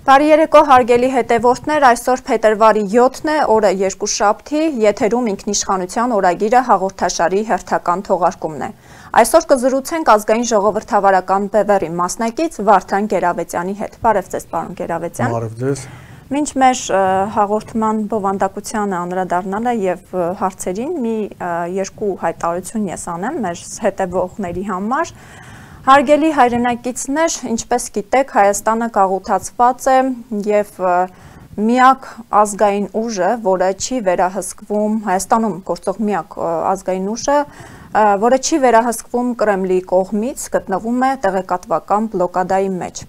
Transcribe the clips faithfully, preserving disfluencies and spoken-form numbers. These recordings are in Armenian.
Բարի երեկո հարգելի հետևորդներ, այսօր փետրվարի յոթն է, օրը երկուշաբթի, եթերում ինքնիշխանության օրագիրը հաղորդաշարի հերթական թողարկումն է։ Այսօր կզրուցենք ազգային ժողովրդավարական բևեռի մասնակից Վարդան Գերավետյանի հետ։ Բարև ձեզ, պարոն Գերավետյան։ Բարև ձեզ։ Մինչ մեր հաղորդման բովանդակությանը անդրադառնալը եւ հարցերին մի երկու հայտարարություն ես անեմ մեր հետևողների համար։ Հարգելի հայրենակիցներ, ինչպես գիտեք, Հայաստանը գաղութացված է եւ միակ ազգային ուժը, որը չի վերահսկվում, Հայաստանում գործող միակ ազգային ուժը, որը չի վերահսկվում Կրեմլի կողմից, գտնվում է տեղեկատվական բլոկադայի մեջ։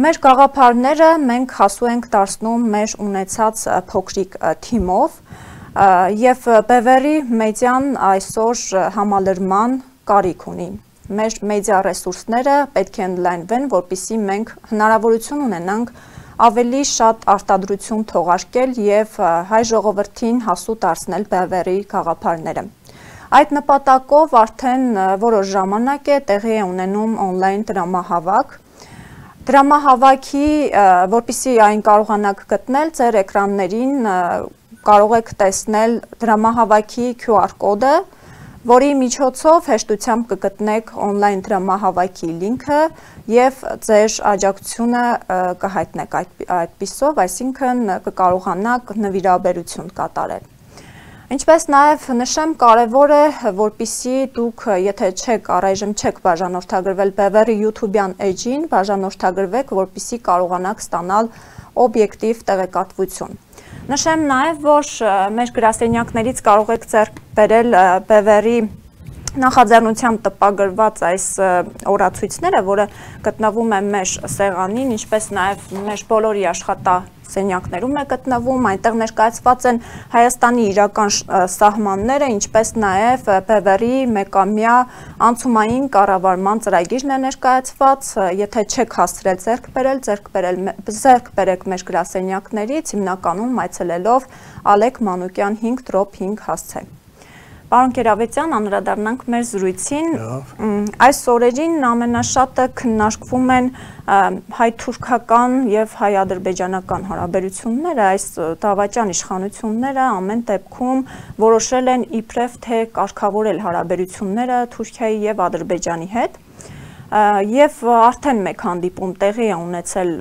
Մեր գաղափարները մենք հասու ենք դարձնում մեր ունեցած փոքրիկ թիմով եւ բևեռի մեդիան այսօր համալրման կարիք ունի։ Մեր մեդիա ռեսուրսները պետք է ընդլայնվեն, որպեսզի մենք հնարավորություն ունենանք ավելի շատ արտադրություն թողարկել եւ հայ ժողովրդին հասու դարձնել բևեռի գաղափարները։ Այդ նպատակով արդեն որոշ ժամանակ է տեղի է ունենում on-line դրամահավաք։ Դրամահավաքի, որպեսզի այն կարողանաք գտնել ձեր էկրաններին, կարող եք տեսնել դրամահավաքի Q R կոդը, որի միջոցով հեշտությամբ կգտնեք on-line դրամահավաքի լինքը եւ ձեր աջակցությունը կհայտնեք այդպիսով, այսինքն կկարողանաք նվիրաբերություն կատարել։ Ինչպես նաեւ նշեմ, կարեւոր է, որպեսզի դուք, եթե չեք առայժմ չեք բաժանորդագրվել Բևեռի YouTube-յան էջին, բաժանորդագրվեք, որպեսզի կարողանաք ստանալ օբյեկտիվ տեղեկատվություն։ Նշեմ նաև, որ մեր գրասենյակներից կարող եք ձեռք բերել Բևեռի նախաձեռնությամբ տպագրված այս օրացույցները, որը գտնվում է մեր սեղանին, ինչպես նաև մեր բոլորի աշխատասենյակներում է գտնվում, այնտեղ ներկայացված են Հայաստանի իրական սահմանները, ինչպես նաև Բևեռի մեկամյա անցումային կառավարման ծրագիրն է ներկայացված, եթե չեք հասցրել ձեռք բերել, ձեռք բերեք մեր գրասենյակներից, հիմնականում այցելելով Ալեք Մանուկյան հինգ հինգ հասցե։ Պարոն Գերավետյան, անդրադառնանք մեր զրույցին, այս օրերին ամենաշատը քննարկվում են հայ-թուրքական եւ հայ-ադրբեջանական հարաբերությունները, այս դավաճան իշխանությունները ամեն դեպքում որոշել են իբրև թե կարգավորել հարաբերությունները Թուրքիայի եւ Ադրբեջանի հետ։ Եվ արդեն մեկ հանդիպում տեղի է ունեցել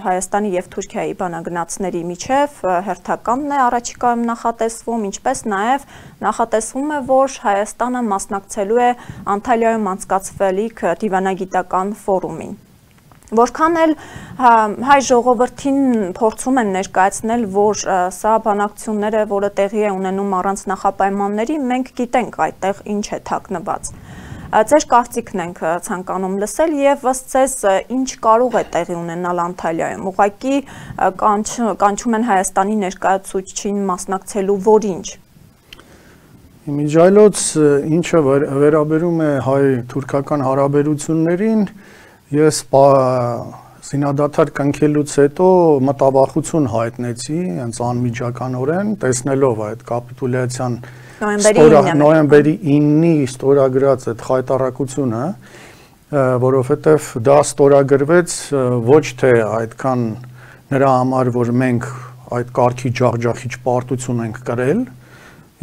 Հայաստանի եւ Թուրքիայի բանագնացների միջև, հերթականն է առաջիկայում նախատեսվում, ինչպես նաեւ նախատեսվում է, որ Հայաստանը մասնակցելու է Անտալիայում անցկացվելիք դիվանագիտական ֆորումին։ Որքան էլ հայ ժողովրդին փորձում են ներկայացնել, որ սա բանակցությունները, որը տեղի է ունենում առանց նախապայմանների, մենք գիտենք այդտեղ ինչ է թաքնված։ Ձեր կարծիքն ենք ցանկանում լսել եւ ըստ ձեզ ինչ կարող է տեղի ունենալ Անտալիայում։ Ուղղակի կանչում են Հայաստանի ներկայացուցչին մասնակցելու որինչ։ Իմիջայլոց ինչը վերաբերում է հայ-թուրքական հարաբերություններին, ես զինադադար կնքելուց հետո մտավախություն հայտնեցի, հենց անմիջականորեն, տեսնելով այդ կապիտուլյացիան նոյեմբերի իննի ստորագրած այդ խայտարակությունը, որովհետև դա ստորագրվեց ոչ թե այդքան նրա համար, որ մենք այդ կարգի ջախջախիչ պարտություն ենք կրել,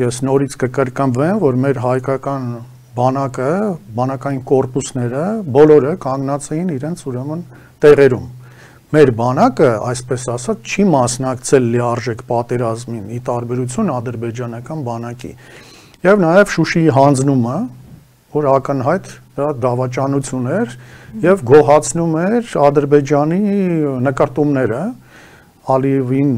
ես նորից կկրկնվեմ, որ մեր հայկական բանակը, բանակային կորպուսները, բոլորը կանգնած էին իրենց ուրեմն տեղերում։ Մեր բանակը, այսպես ասած, չի մասնակցել լիարժեք պատերազմին, ի տարբերություն ադրբեջանական բանակի։ Եվ նաև Շուշիի հանձնումը, որ ակնհայտ դավաճանություն էր եւ գոհացնում էր Ադրբեջանի նկարտումները, Ալիևին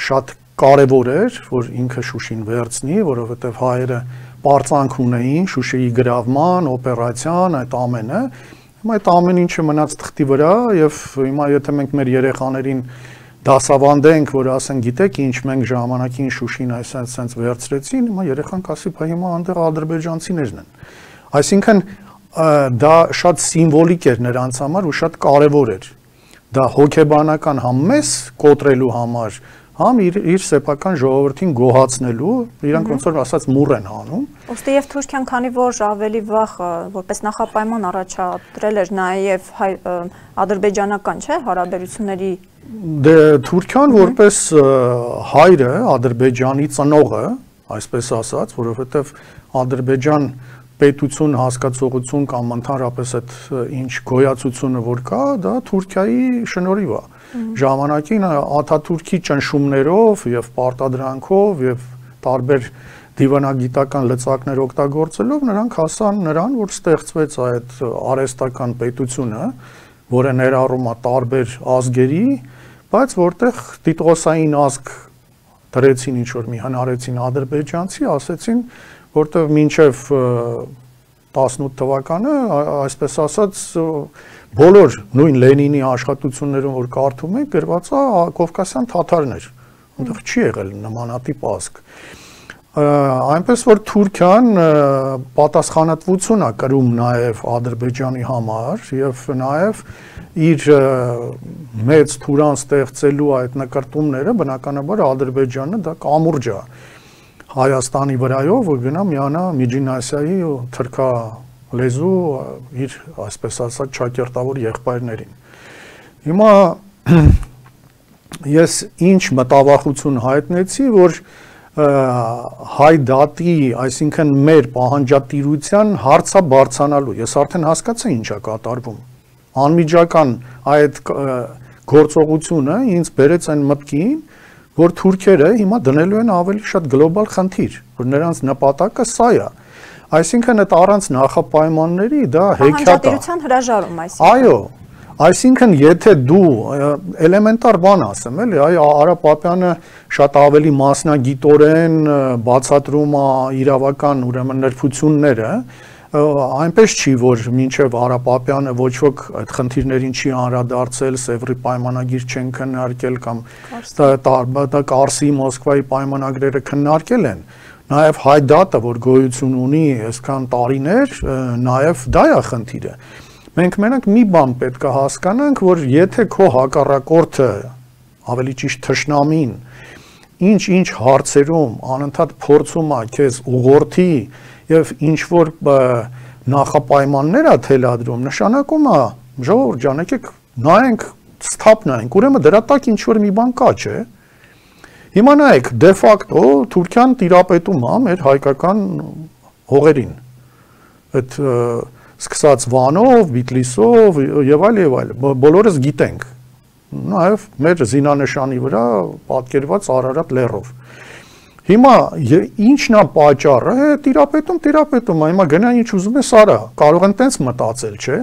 շատ կարևոր էր, որ ինքը Շուշին վերցնի, որովհետեւ հայերը պարծանք ունեին Շուշիի գրավման, օպերացիան, այդ ամենը։ Հիմա այդ ամեն ինչը մնաց թղթի վրա եւ հիմա եթե մենք մեր երեխաներին դասավանդենք, որ ասեն, գիտեք ինչ, մենք ժամանակին Շուշին այսպես վերցրեցին, հիմա երեխան կասի, բա հիմա այնտեղ ադրբեջանցիներն են։ Այսինքն դա շատ սիմվոլիկ էր նրանց համար ու շատ կարևոր էր։ Դա հոգեբանական համ մեզ կոտրելու համար, համ իր իր սեփական ժողովրդին գոհացնելու, իրանք ոնց որ ասած մուռ են հանում։ Ոստի եւ Թուրքիան, քանի որ ավելի վաղ որպես նախապայման առաջադրել էր նաեւ ադրբեջանական, չէ, հարաբերությունների Դե Թուրքիան որպես հայրը, Ադրբեջանի ծնողը, այսպես ասած, որովհետեւ Ադրբեջան պետություն հասկացողություն կամ ընդհանրապես այդ ինչ գոյացությունը որ կա, դա Թուրքիայի շնորհիվ է։ Ժամանակին Աթաթուրքի ճնշումներով եւ պարտադրանքով եւ տարբեր դիվանագիտական լծակներ օգտագործելով նրանք հասան նրան, որ ստեղծվեց այդ արհեստական պետությունը, որը ներառում է տարբեր ազգերի, բայց որտեղ տիտղոսային ազգ դրեցին ինչ որ մի հնարեցին ադրբեջանցի, ասեցին, որտեղ մինչև տասնութ թվականը, այսպես ասած, բոլոր նույն Լենինի աշխատություններում որ կարդում եք, գրված է կովկասյան թաթարներ, այնտեղ չի եղել նմանատիպ ազգ։ Այնպես որ Թուրքիան պատասխանատվություն է կրում նաև Ադրբեջանի համար եւ նաև իր մեծ թուրան ստեղծելու այդ նկարտումները բնականաբար Ադրբեջանը դա կամուրջ է Հայաստանի վրայով, որ գնա միանա Միջին Ասիայի թրքա լեզու իր այսպես ասած ճակերտավոր եղբայրներին։ Հիմա ես ինչ մտավախություն հայտնեցի, որ հայ դատի, այսինքն մեր պահանջատիրության հարցը բարձրանալու։ Ես արդեն հասկացա ինչ է կատարվում։ Անմիջական այդ գործողությունը ինձ բերեց այն մտքին, որ թուրքերը հիմա դնելու են ավելի շատ գլոբալ խնդիր, որ նրանց նպատակը սա է։ Այսինքն այդ առանց նախապայմանների դա հեքիաթ է։ Պահանջատիրության հրաժարում, այսինքն։ Այո, այսինքն եթե դու էլեմենտար բան ասեմ, էլի, այ Արա Պապյանը շատ ավելի մասնագիտորեն բացատրում է իրավական ուրեմն նրբությունները, այնպես չի, որ մինչև Արա Պապյանը ոչ ոք այդ խնդիրներին չի անդրադարձել, Սևրի պայմանագիր չեն քննարկել կամ դա Կարսի, Մոսկվայի պայմանագրերը քննարկել են։ Նաև հայ դատը, որ գոյություն ունի այսքան տարիներ, նաև դա է խնդիրը։ Մենք մենակ մի բան պետք է հասկանանք, որ եթե քո հակառակորդը, ավելի ճիշտ թշնամին, ինչ-ինչ հարցերում անընդհատ փորձում է քեզ ուղղորդի եւ ինչ որ նախապայմաններ է թելադրում, նշանակում է ժողովուրդ ջան, եկեք նայենք, ստապ նայենք, ուրեմն դրա տակ ինչ որ մի բան կա, չէ։ Հիմա նայեք, դե ֆակտո Թուրքիան տիրապետում է մեր հայկական հողերին։ Այդ սկսած Վանով, Բիտլիսով եւ այլ եւ այլ, բոլորս գիտենք։ Նաեւ մեր զինանշանի վրա պատկերված Արարատ լեռով։ Հիմա ինչն է պատճառը, տիրապետում, տիրապետում, հիմա գնա ինչ ուզում ես արա, կարող են տենց մտածել, չէ։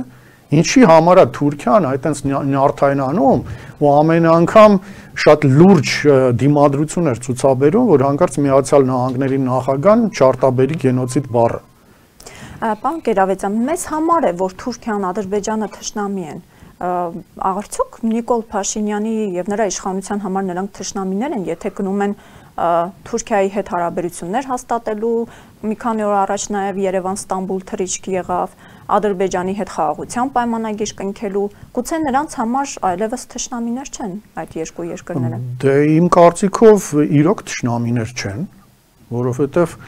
Ինչի համար է Թուրքիան այտենց նյարդայնանում ու ամեն անգամ շատ լուրջ դիմադրություն էր ցուցաբերում, որ հանկարծ Միացյալ Նահանգների նախագահան չարտաբերի գենոցիդ բառը։ Պարոն Կերավեցյան, մեզ համար է, որ Թուրքիան, Ադրբեջանը թշնամի են։ Արդյոք Նիկոլ Փաշինյանի եւ նրա իշխանության համար նրանք թշնամիներ են, եթե գնում են Թուրքիայի հետ հարաբերություններ հաստատելու, մի քանի օր առաջ նաև Երևան-Ստամբուլ թռիչք եղավ, Ադրբեջանի հետ խաղաղության պայմանագիր կնքելու, գուցե նրանց համար այլևս թշնամիներ չեն այդ երկու երկրները։ Դե իմ կարծիքով իրոք թշնամիներ չեն, որովհետև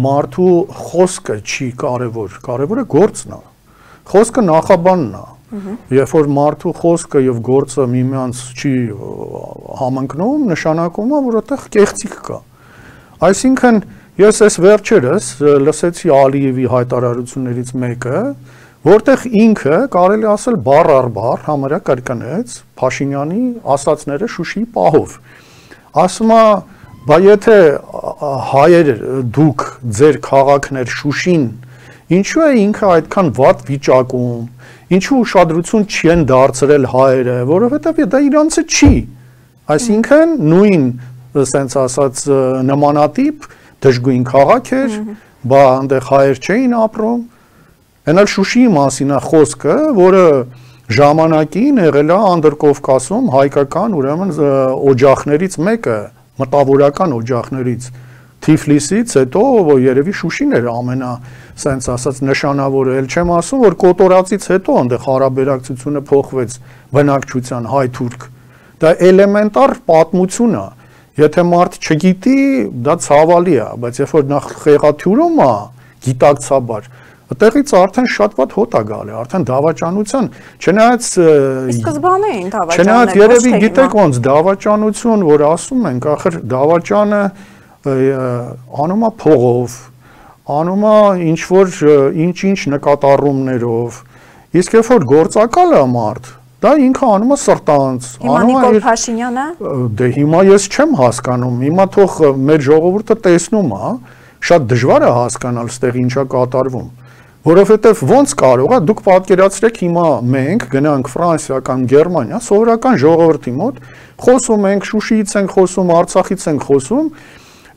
մարդու խոսքը չի կարևոր, կարևորը գործն է։ Խոսքը նախաբանն է։ Երբ որ մարդու խոսքը եւ գործը միմյանց չի համընկնում, նշանակում է, որ այդտեղ կեղծիք կա։ Այսինքն ես այս վերջերս լսեցի Ալիևի հայտարարություններից մեկը, որտեղ ինքը կարելի ասել բառ առ բառ համարյա կրկնեց Փաշինյանի ասածները Շուշիի պահով։ Ասում է, բա եթե հայեր դուք ձեր քաղաքներ Շուշին, ինչու է ինքը այդքան վատ վիճակում, ինչու ուշադրություն չեն դարձրել հայերը, որովհետև դա իրանցը չի։ Այսինքն նույն, ասենց ասած, նմանատիպ դժգույն քաղաք էր, բա այնտեղ հայեր չէին ապրում։ Այնալ Շուշիի մասին է խոսքը, որը ժամանակին եղել է Անդրկովկասում հայկական ուրեմն օջախներից մեկը, մտավորական օջախներից, Թիֆլիսից հետո երևի Շուշին էր ամենա սենց ասած նշանավորը, էլ չեմ ասում, որ Կոտորածից հետո այնտեղ հարաբերակցությունը փոխվեց բնակչության հայ-թուրք։ Դա էլեմենտար պատմություն է։ Եթե մարդ չգիտի, դա ցավալի է, բայց երբ որ նախ խեղաթյուրում է, գիտակցաբար, այդտեղից արդեն շատ ված հոտ է գալի, արդեն դավաճանության, չնայած սկզբանե էին դավաճանները, չնայած երևի գիտեք ոնց դավաճանություն, որ ասում ենք, ախր դավաճանը անում է փողով, անում է ինչ որ ինչ-ինչ նկատառումներով, իսկ երբ որ գործակալ է մարդ, դա ինքը անում է սրտանց, անում է Նիկոլ Փաշինյանը։ Դե հիմա ես չեմ հասկանում, հիմա թող մեր ժողովուրդը տեսնում է, շատ դժվար է հասկանալ ստեղ ինչա կատարվում, որովհետև ոնց կարող է, դուք պատկերացրեք հիմա մենք գնանք Ֆրանսիա կամ Գերմանիա, սովորական ժողովրդի մոտ, խոսում ենք, Շուշիից ենք խոսում, Արցախից ենք խոսում,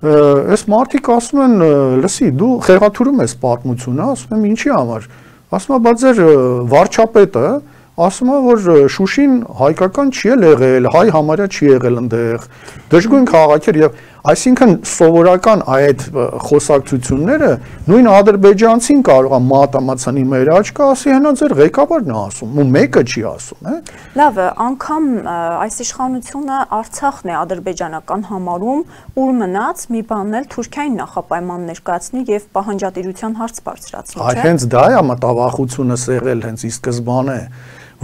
այս մարդիկ ասում են, լսի, դու խեղաթյուրում ես պատմությունը, ասում եմ ինչի համար, ասում եմ, բա ձեր վարչապետը ասում է, որ Շուշին հայկական չի եղել, հայ համարյա չի եղել ընդեղ, դժգույն քաղաք էր եւ այսինքն սովորական այդ խոսակցությունները նույն ադրբեջանցին կարող է մատամացանի մեր աչքը ասի, հենա ձեր ղեկավարն է ասում, ու մեկը չի ասում, է։ Լավ է, անգամ այս իշխանությունը Արցախն է ադրբեջանական համարում, ուր մնաց մի բանն էլ Թուրքիային նախապայման ներկայացնի եւ պահանջատիրության հարց բարձրացնի, չէ՞։ Այ հենց դա է մտավախությունը սեղել հենց ի սկզբանե,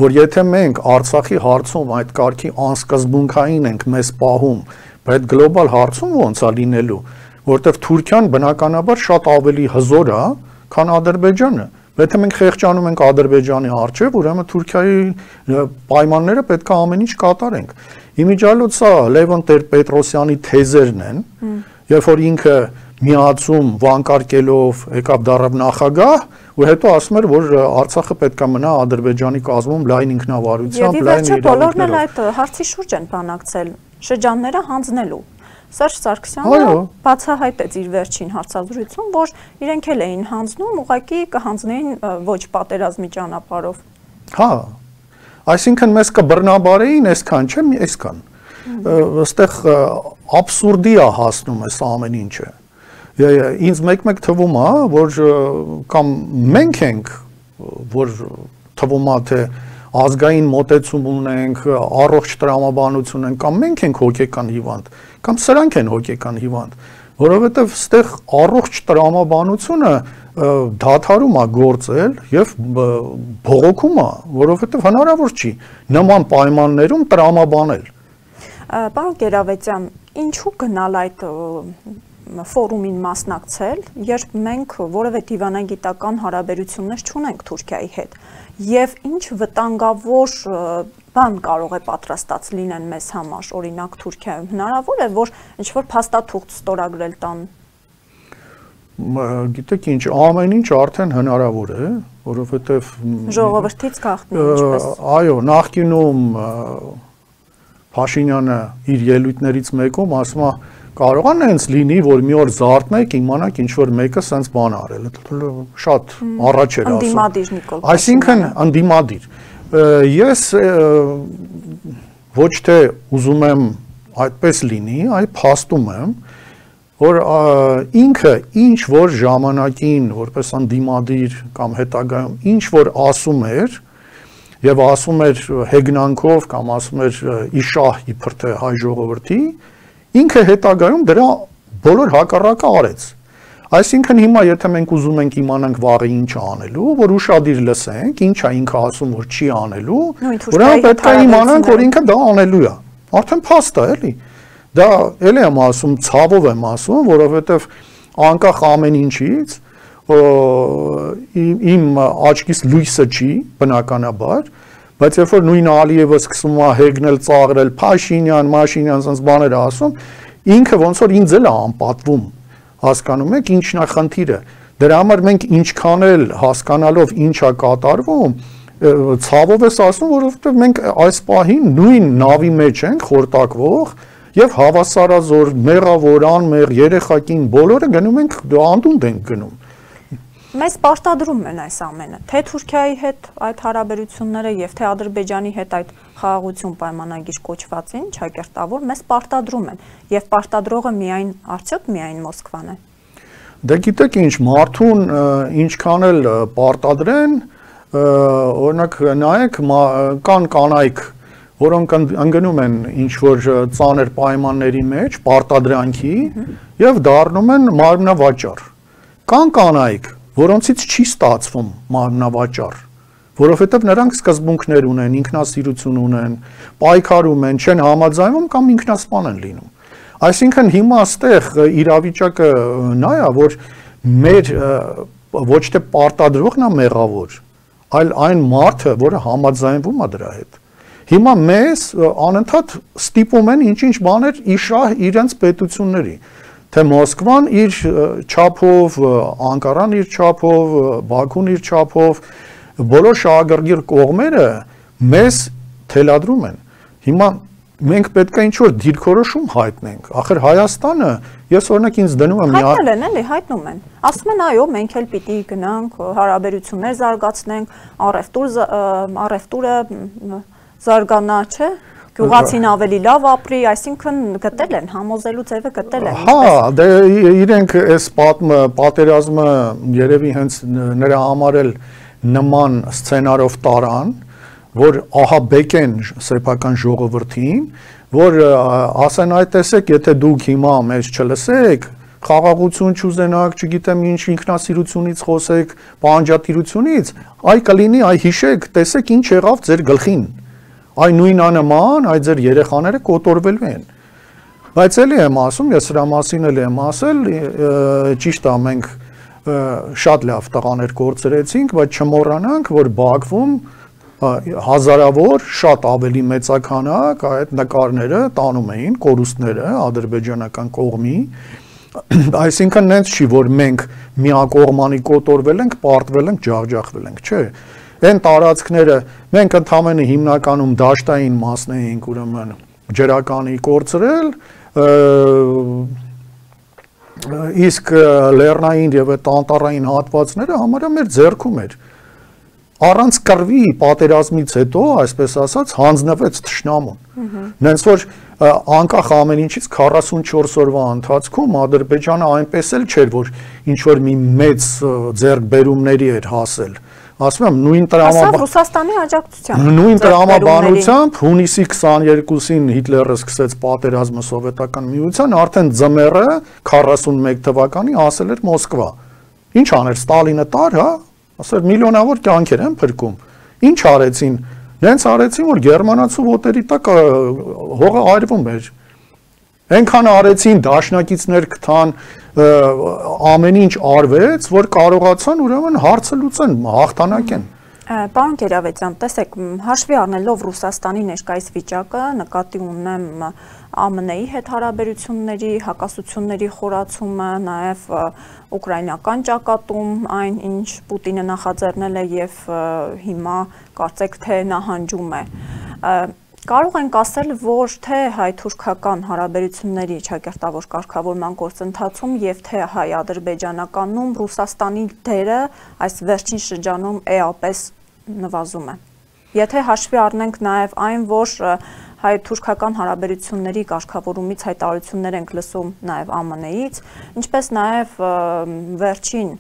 որ եթե մենք Արցախի հարցում այդ կարգի անսկզբունքային ենք մեզ պահում, բայց գլոբալ հարցում ոնց է լինելու, որտեվ Թուրքիան բնականաբար շատ ավելի հզոր է, քան Ադրբեջանը։ Եթե մենք խեղճանում ենք Ադրբեջանի առջև, ուրեմն Թուրքիայի պայմանները պետք է ամեն ինչ կատարենք։ Իմիջիալոց սա Լևոն Տեր-Պետրոսյանի թեզերն են, երբ որ ինքը միացում վանկարկելով եկավ դառավ նախագահ, ու հետո ասում էր, որ Արցախը պետք է մնա Ադրբեջանի կազմում լայն ինքնավարությամբ, լայն իրավունքներով։ Եվ բոլորն էլ այդ հարցի շուրջ են բանակցել, շրջանները հանձնելու։ Սերժ Սարգսյանը բացահայտեց իր վերջին հարցազրույցում, որ իրենք էլ էին հանձնում, ուղղակի կհանձնեին ոչ պատերազմի ճանապարհով։ Հա, այսինքն մեզ կբռնաբարեին այսքան, չէ՞, այսքան։ Այստեղ աբսուրդի է հասնում այս ամեն ինչը։ Ինձ մեկ-մեկ թվում է, որ կամ մենք ենք, որ թվում է, թե ազգային մոտեցում ունենք, առողջ տրամաբանություն ենք, կամ մենք ենք հոգեկան հիվանդ, կամ սրանք են հոգեկան հիվանդ, որովհետև ստեղ առողջ տրամաբանությունը դադարում է գործել եւ բողոքում է, որովհետև հնարավոր չի նման պայմաններում տրամաբանել։ Պարոն Կերավետյան, ինչու գնալ այդ ֆորումին մասնակցել, երբ մենք որևէ դիվանագիտական հարաբերություններ չունենք Թուրքիայի հետ, եւ ինչ վտանգավոր բան կարող է պատրաստած լինեն մեզ համար, օրինակ Թուրքիայում, հնարավոր է, որ ինչ-որ փաստաթուղթ ստորագրել տան։ Գիտեք ինչ, ամեն ինչ արդեն հնարավոր է, որովհետեւ ժողովրդից գաղտնի ինչպես։ Այո, նախկինում Փաշինյանը իր ելույթներից մեկում ասում է, կարող է հենց լինի, որ մի օր զարթնեք, իմանաք ինչ որ մեկը սենց բան արել, շատ առաջ էր ասում։ Ընդդիմադիր Նիկոլ Փաշինյանը։ Այսինքն ընդդիմադիր։ Ես ոչ թե ուզում եմ այդպես լինի, այլ փաստում եմ, որ ինքը ինչ որ ժամանակին, որպես ընդդիմադիր կամ հետագայում ինչ որ ասում էր, եւ ասում էր հեգնանքով կամ ասում էր իշահ իբր թե հայ ժողովրդի, ինքը հետագայում դրա բոլոր հակառակը արեց։ Այսինքն հիմա եթե մենք ուզում ենք իմանանք վաղը ինչ է անելու, որ ուշադիր լսենք, ինչ է ինքը ասում, որ չի անելու, ուրեմն պետք է իմանանք, որ ինքը դա անելու է։ Արդեն փաստ է, էլի։ Դա էլի եմ ասում, ցավով եմ ասում, որովհետեւ անկախ ամեն ինչից իմ աչքից լույսը չի, բնականաբար, բայց երբ որ նույն Ալիևը սկսում է հեգնել, ծաղրել, Փաշինյան, Մաշինյան, ասենց բաներ ասում, ինքը ոնց որ ինձ էլ է անպատվում, հասկանում եք, ինչն է խնդիրը։ Դրա համար մենք ինչքան էլ հասկանալով ինչ է կատարվում, ցավով ես ասում, որովհետև մենք այս պահին նույն նավի մեջ ենք խորտակվող եւ հավասարազոր, մեղավոր, անմեղ, երեխակին բոլորը գնում ենք անդունդ ենք գնում։ Մեզ պարտադրում են այս ամենը, թե Թուրքիայի հետ այդ հարաբերությունները եւ թե Ադրբեջանի հետ այդ խաղաղություն պայմանագիր կոչվածին, ճակերտավոր, մեզ պարտադրում են եւ պարտադրողը միայն արդյոք միայն Մոսկվան է։ Դե գիտեք ինչ, մարդուն ինչքան էլ պարտադրեն, օրինակ նայեք, կան կանայք, որոնք ընկնում են ինչ-որ ծանր պայմանների մեջ, պարտադրանքի եւ դառնում են մարմնավաճառ։ Կան կանայք, որոնցից չի ստացվում մարմնավաճառ, որովհետեւ նրանք սկզբունքներ ունեն, ինքնասիրություն ունեն, պայքարում են, չեն համաձայնում կամ ինքնասպան են լինում։ Այսինքն հիմա այստեղ իրավիճակը նա է, որ մեր ոչ թե պարտադրողն է մեղավոր, այլ այն մարդը, որը համաձայնվում է դրա հետ։ Հիմա մեզ անընդհատ ստիպում են ինչ-ինչ բաներ իշահ իրենց պետությունների, թե Մոսկվան իր չափով, Անկարան իր չափով, Բաքուն իր չափով, բոլոր շահագրգիռ կողմերը մեզ թելադրում են։ Հիմա մենք պետք է ինչ-որ դիրքորոշում հայտնենք։ Ախր Հայաստանը, ես օրինակ ինձ դնում եմ հայտնել են, էլի հայտնում են։ Ասում են այո, մենք էլ պիտի գնանք, հարաբերություններ զարգացնենք, առևտուր առևտուրը զարգանա, չէ՞։ Գյուղացին ավելի լավ ապրի, այսինքն գտել են, համոզելու ձևը գտել են։ Հա, դե իրենք այս պատերազմը երևի հենց նրա համար էլ նման սցենարով տարան, որ ահաբեկեն սեփական ժողովրդին, որ ասեն այ տեսեք, եթե դուք հիմա մեզ չլսեք, խաղաղություն չուզենաք, չգիտեմ ինչ ինքնասիրությունից խոսեք, պահանջատիրությունից, այ կլինի, այ հիշեք, տեսեք ինչ եղավ ձեր գլխին։ Այ նույն անման, այ ձեր երեխաները կոտորվելու են։ Բայց էլի եմ ասում, ես սրա մասին էլ եմ ասել, ճիշտ է, մենք շատ լավ տղաներ կորցրեցինք, բայց չմոռանանք, որ Բաքվում հազարավոր շատ ավելի մեծականակ այդ նկարները տանում էին կորուստները ադրբեջանական կողմի, այսինքն նենց չի, որ մենք միակողմանի կոտորվել ենք, պարտվել ենք, ջախջախվել ենք, չէ։ Այն տարածքները մենք ընդհանրապես հիմնականում դաշտային մասն էինք, ուրեմն ջրականի կորցրել, իսկ լեռնային եւ տանտարային հատվածները համարյա մեր ձեռքում էր։ Առանց կռվի պատերազմից հետո, այսպես ասած, հանձնվեց թշնամուն։ Նենց որ անկախ ամեն ինչից քառասունչորս օրվա ընթացքում Ադրբեջանը այնպես էլ չէր, որ ինչ որ մի մեծ ձեռքբերումների էր հասել։ Ասում եմ, նույն տրամաբանությամբ Ռուսաստանի աջակցությամբ։ Նույն տրամաբանությամբ հունիսի քսաներկուսին Հիտլերը սկսեց պատերազմը սովետական միության, արդեն ձմեռը քառասունմեկ թվականի հասել էր Մոսկվա։ Ինչ աներ Ստալինը տար, հա, ասել միլիոնավոր կյանքեր են փրկում։ Ինչ արեցին։ Նենց արեցին, որ գերմանացու ոտերի տակ հողը այրվում էր։ Այնքան արեցին, դաշնակիցներ գտան, ամեն ինչ արվեց, որ կարողացան ուրեմն հարցը լուծեն, հաղթանակեն։ Պարոն Գերավետյան, տեսեք, հաշվի առնելով Ռուսաստանի ներկայիս վիճակը, նկատի ունեմ ԱՄՆ-ի հետ հարաբերությունների, հակասությունների խորացումը, նաև ուկրաինական ճակատում, այն ինչ Պուտինը նախաձեռնել է եւ հիմա կարծեք թե նահանջում է։ Կարող ենք ասել, որ թե հայ-թուրքական հարաբերությունների ճակերտավոր կարգավորման գործընթացում եւ թե հայ-ադրբեջանականում Ռուսաստանի դերը այս վերջին շրջանում էապես նվազում է։ Եթե հաշվի առնենք նաեւ այն, որ հայ-թուրքական հարաբերությունների կարգավորումից հայտարարություններ ենք լսում նաեւ ԱՄՆ-ից, ինչպես նաեւ վերջին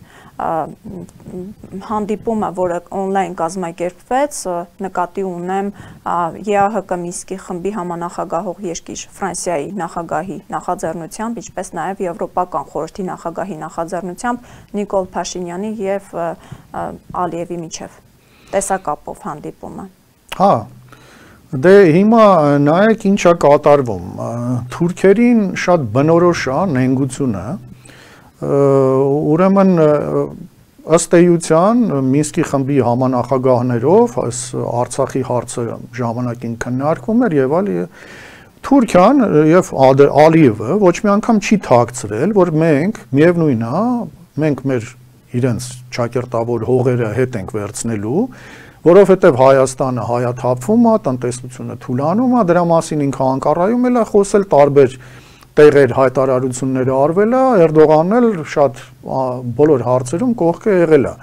հանդիպումը, որը on-line կազմակերպվեց, նկատի ունեմ Է Ա Հ Կ Մինսկի խմբի համանախագահող երկիր Ֆրանսիայի նախագահի նախաձեռնությամբ, ինչպես նաև Եվրոպական խորհրդի նախագահի նախաձեռնությամբ Նիկոլ Փաշինյանի եւ Ալիևի միջև տեսակապով հանդիպումը։ Հա, դե հիմա նայեք ինչա կատարվում։ Թուրքերին շատ բնորոշ է նենգությունը, ուրեմն ըստ էության Մինսկի խմբի համանախագահներով այս Արցախի հարցը ժամանակին քննարկվում էր եւ այլ Թուրքիան եւ Ալիևը ոչ մի անգամ չի թաքցրել, որ մենք միևնույն է, մենք մեր իրենց ճակերտավոր հողերը հետ ենք վերցնելու, որովհետեւ Հայաստանը հայաթափվում է, տնտեսությունը թուլանում է, դրա մասին ինքը Անկարայում էլ է խոսել տարբեր տեղեր հայտարարությունները արվել է, Էրդողանն էլ շատ բոլոր հարցերում կողքը եղել է։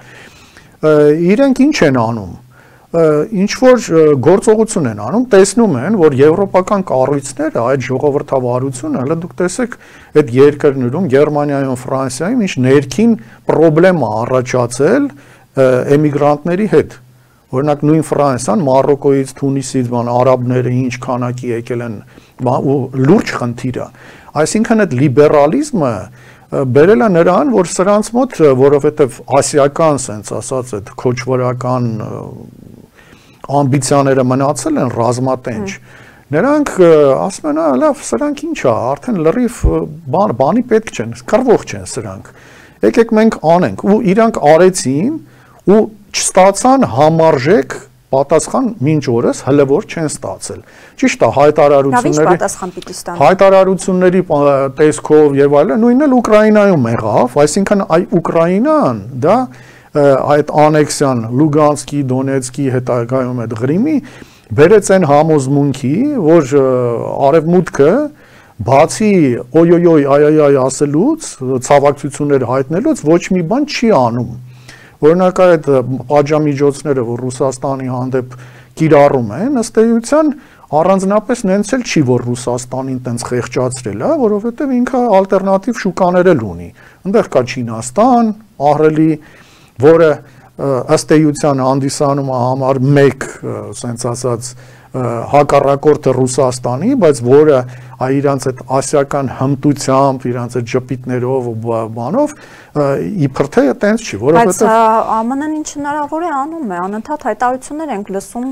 Իրենք ինչ են անում։ Ինչ որ գործողություն են անում, տեսնում են, որ եվրոպական կառույցները այդ ժողովրդավարությունը, հələ դուք տեսեք այդ երկրներում, Գերմանիայում, Ֆրանսիայում ինչ ներքին խնդրեմ է առաջացել էմիգրանտների հետ։ Օրինակ նույն Ֆրանսիան, Մարոկոից, Թունիսից, բան արաբները ինչ քանակի եկել են, ու լուրջ խնդիր է։ Այսինքն այդ լիբերալիզմը բերել է նրան, որ սրանց մոտ, որովհետև ասիական, sense ասած, այդ քոչվորական ամբիցիաները մնացել են ռազմատենչ։ Նրանք ասում են, լավ, սրանք ինչ է, արդեն լրիվ բան, բանի պետք չեն, կռվող չեն սրանք։ Եկեք մենք անենք, ու իրանք արեցին ու չստացան համարժեք պատասխան մինչ օրս հələ որ չեն ստացել։ Ճիշտ է, հայտարարությունների հայտարարությունների տեսքով եւ այլն, նույնն էլ Ուկրաինայում եղավ, այսինքն այ Ուկրաինան, դա այդ անեքսիան Լուգանսկի, Դոնեցկի հետագայում այդ Ղրիմի բերեց այն համոզմունքի, որ արևմուտքը բացի օյոյոյ այայայ ասելուց, ցավակցություններ հայտնելուց ոչ մի բան չի անում։ Օրինակ այդ պատժամիջոցները, որ Ռուսաստանի հանդեպ կիրառում են, ըստ էության առանձնապես նենց էլ չի, որ Ռուսաստանին տենց խեղճացրել է, որովհետև ինքը ալտերնատիվ շուկաներ էլ ունի։ Այնտեղ կա Չինաստան, ահռելի, որը ըստ էության հանդիսանում է համար մեկ, ասենց ասած, հակառակորդը Ռուսաստանի, բայց որը իրանց այդ ասիական հմտությամբ, իրանց այդ ժպիտներով ու բանով իբր թե տենց չի, որովհետև բայց ԱՄՆ-ն ինչ հնարավոր է անում է, անընդհատ հայտարարություններ ենք լսում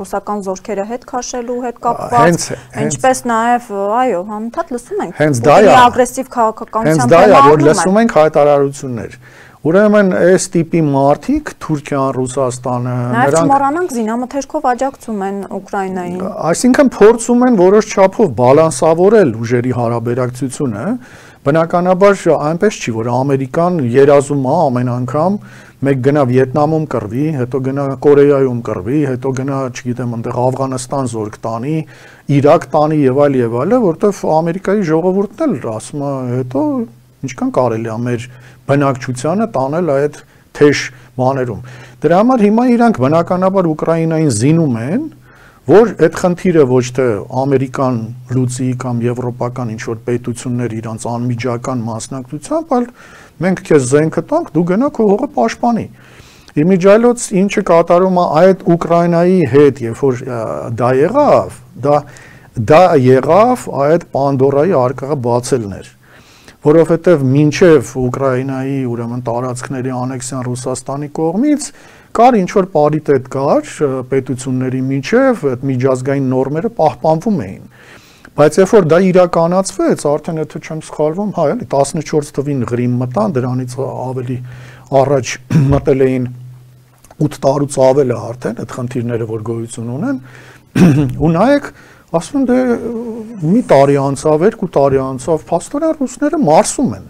ռուսական զորքերը հետ քաշելու հետ կապված, ինչպես նաև, այո, անընդհատ լսում ենք, ու ագրեսիվ քաղաքականությամբ հենց դա է, որ լսում ենք հայտարարություններ։ Ուրեմն այս տիպի մարդիկ Թուրքիան, Ռուսաստանը, նրանք չմոռանանք զինամթերքով աջակցում են Ուկրաինային։ Այսինքն փորձում են որոշ չափով բալանսավորել ուժերի հարաբերակցությունը, բնականաբար այնպես չի, որ Ամերիկան երազում է ամեն անգամ մեկ գնա Վիետնամում կռվի, հետո գնա Կորեայում կռվի, հետո գնա, չգիտեմ, այնտեղ Աֆղանստան զորք տանի, Իրաք տանի եւ այլ եւ այլը, որտեվ Ամերիկայի ժողովուրդն էլ ասում է, հետո ինչքան կարելի է մեր բնակչությանը տանել այդ թեժ բաներում։ Դրա համար հիմա իրանք բնականաբար Ուկրաինային զինում են, որ այդ խնդիրը ոչ թե ամերիկան լուծի կամ եվրոպական ինչ-որ պետություններ իրանց անմիջական մասնակցությամբ, այլ մենք քեզ զենքը տանք, դու գնա քո հողը պաշտպանի։ Իմիջայլոց ինչը կատարում է այդ Ուկրաինայի հետ, երբ որ դա եղավ, դա դա եղավ այդ Պանդորայի արկղը բացելներ, որովհետև մինչև Ուկրաինայի ուրեմն տարածքների անեքսիան Ռուսաստանի կողմից կար ինչ-որ պարիտետ կար պետությունների միջև, այդ միջազգային նորմերը պահպանվում էին։ Բայց երբ որ դա իրականացվեց, արդեն եթե չեմ սխալվում, հա, էլի տասնչորս թվին Ղրիմ մտան, դրանից ավելի առաջ մտել էին ութ տարուց ավել է արդեն այդ խնդիրները, որ գոյություն ունեն, ու նայեք, ասում դե մի տարի անցավ, երկու տարի անցավ, փաստորեն ռուսները մարսում են։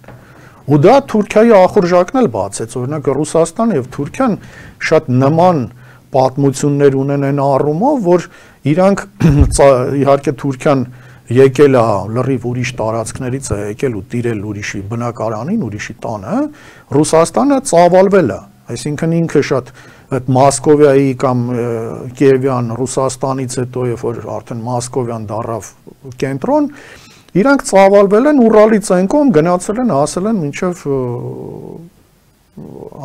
Ու դա Թուրքիայի ախորժակն էլ բացեց, օրինակ Ռուսաստանը եւ Թուրքիան շատ նման պատմություններ ունեն այն առումով, որ իրանք իհարկե Թուրքիան եկել է լրիվ ուրիշ տարածքներից է եկել ու տիրել ուրիշի բնակարանին, ուրիշի տանը, Ռուսաստանը ծավալվել է, այսինքն ինքը շատ այդ Մոսկովիայի կամ Կիևյան Ռուսաստանից հետո, երբ որ արդեն Մոսկովյան դառավ կենտրոն, իրանք ծավալվել են Ուրալից այն կողմ գնացել են, հասել են մինչև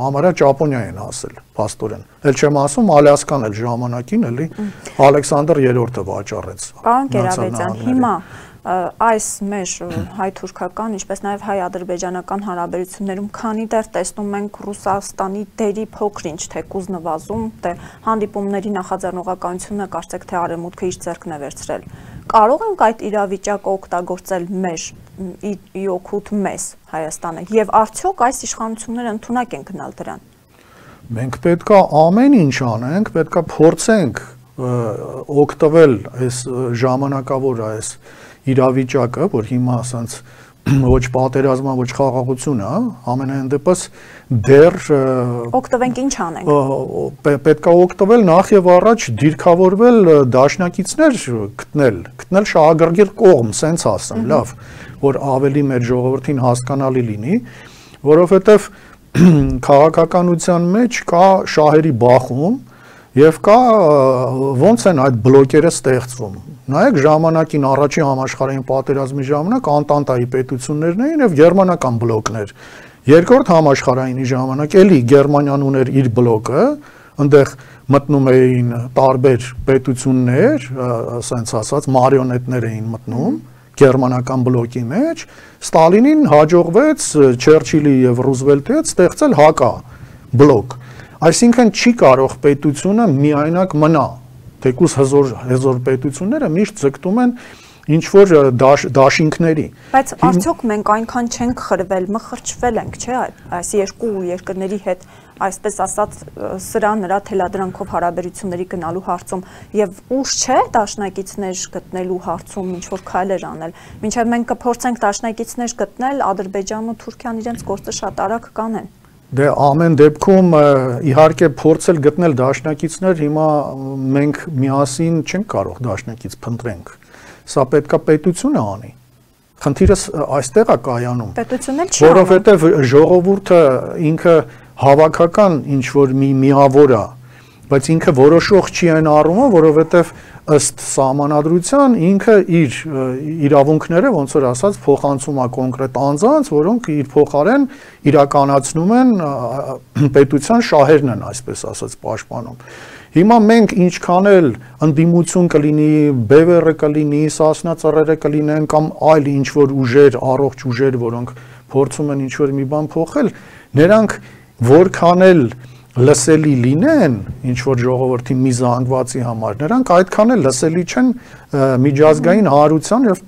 համարյա Ճապոնիա են հասել, փաստորեն։ Էլ չեմ ասում Ալյասկան էլ ժամանակին էլի Ալեքսանդր երրորդը վաճառեց։ Պարոն Կերաբեջյան, հիմա այս մեր հայ-թուրքական, ինչպես նաև հայ-ադրբեջանական հարաբերություններում քանի դեռ տեսնում ենք Ռուսաստանի դերի փոքր-ինչ թեկուզ նվազում, թե հանդիպումների նախաձեռնողականությունը կարծեք թե արևմուտքը իր ձեռքն է վերցրել։ Կարող ենք այդ իրավիճակը օգտագործել մեր ի օգուտ մեզ Հայաստանը եւ արդյոք այս իշխանությունները ընդունակ են գնալ դրան։ Մենք պետքա ամեն ինչ անենք, պետքա փորձենք օգտվել այս ժամանակավոր այս իրավիճակը, որ հիմա ասած ոչ պատերազմա, ոչ խաղաղություն է, ամենայն դեպս դեռ օգտվենք ինչ անենք։ Պետք է օգտվել նախ եւ առաջ դիրքավորվել դաշնակիցներ գտնել, գտնել շահագրգիռ կողմ, սենց ասեմ, լավ, որ ավելի մեր ժողովրդին հասկանալի լինի, որովհետեւ քաղաքականության մեջ կա շահերի բախում եւ կա ոնց են այդ բլոկերը ստեղծվում։ Նայեք ժամանակին առաջին համաշխարհային պատերազմի ժամանակ Անտանտայի պետություններն էին եւ գերմանական բլոկներ։ Երկրորդ համաշխարհայինի ժամանակ էլի Գերմանիան ուներ իր բլոկը, այնտեղ մտնում էին տարբեր պետություններ, ասենց ասած մարիոնետներ էին մտնում գերմանական բլոկի մեջ, Ստալինին հաջողվեց Չերչիլի եւ Ռուզվելտի հետ ստեղծել հակա բլոկ։ Այսինքն չի կարող պետությունը միայնակ մնա, թեկուզ հզոր հզոր պետությունները միշտ ձգտում են ինչ որ դաշ, դաշինքների։ Բայց արդյոք մենք այնքան չենք խրվել, մխրճվել ենք, չէ՞, այս երկու երկրների հետ, այսպես ասած, սրա նրա թելադրանքով հարաբերությունների գնալու հարցում եւ ուշ չէ դաշնակիցներ գտնելու հարցում ինչ որ քայլեր անել։ Մինչեւ մենք կփորձենք դաշնակիցներ գտնել, Ադրբեջանն ու Թուրքիան իրենց գործը շատ արագ կանեն։ Դե ամեն դեպքում իհարկե փորձել գտնել դաշնակիցներ, հիմա մենք միասին չենք կարող դաշնակից փնտրենք։ Սա պետքա պետությունը անի։ Խնդիրը այստեղ է կայանում։ Պետությունն էլ չի անում։ Որովհետև ժողովուրդը ինքը հավաքական ինչ որ մի միավոր է, բայց ինքը որոշող չի այն առումով, որովհետև ըստ սահմանադրության ինքը իր իրավունքները ոնց որ ասած փոխանցում է կոնկրետ անձանց, որոնք իր փոխարեն իրականացնում են պետության շահերն են, այսպես ասած, պաշտպանում։ Հիմա մենք ինչքան էլ ընդդիմություն կլինի, բևեռը կլինի, Սասնա ծռերը կլինեն կամ այլ ինչ որ ուժեր, առողջ ուժեր, որոնք փորձում են ինչ որ մի բան փոխել, նրանք որքան էլ լսելի լինեն ինչ որ ժողովրդի մի զանգվածի համար, նրանք այդքան էլ լսելի չեն միջազգային հանրության եւ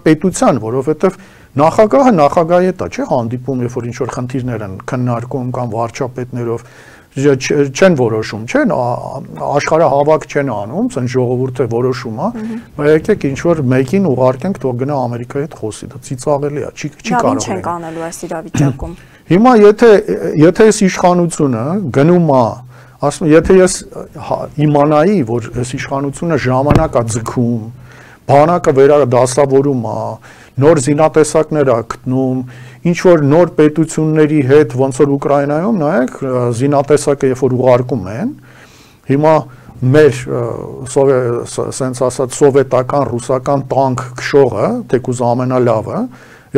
պետության, որովհետեւ նախագահը նախագահի հետ է, չէ՞, հանդիպում, երբ որ ինչ որ խնդիրներ են քննարկում կամ վարչապետներով չեն որոշում, չեն աշխարհահավաք չեն անում, ցեն ժողովուրդը որոշում է, բայց եկեք ինչ որ մեկին ուղարկենք, թող գնա Ամերիկայի հետ խոսի, դա ծիծաղելի է, չի չի կարող։ Ինչ ենք անելու այս իրավիճակում։ Հիմա եթե եթե այս իշխանությունը գնում է, ասում եթե ես իմանայի, որ այս իշխանությունը ժամանակ է ձգում, բանակը վերադասավորում է, նոր զինատեսակներ է գտնում, ինչ որ նոր պետությունների հետ, ոնց որ Ուկրաինայում, նայեք, զինատեսակը երբ որ ուղարկում են, հիմա մեր սենց ասած սովետական, ռուսական տանկ քշողը, թեկուզ ամենալավը,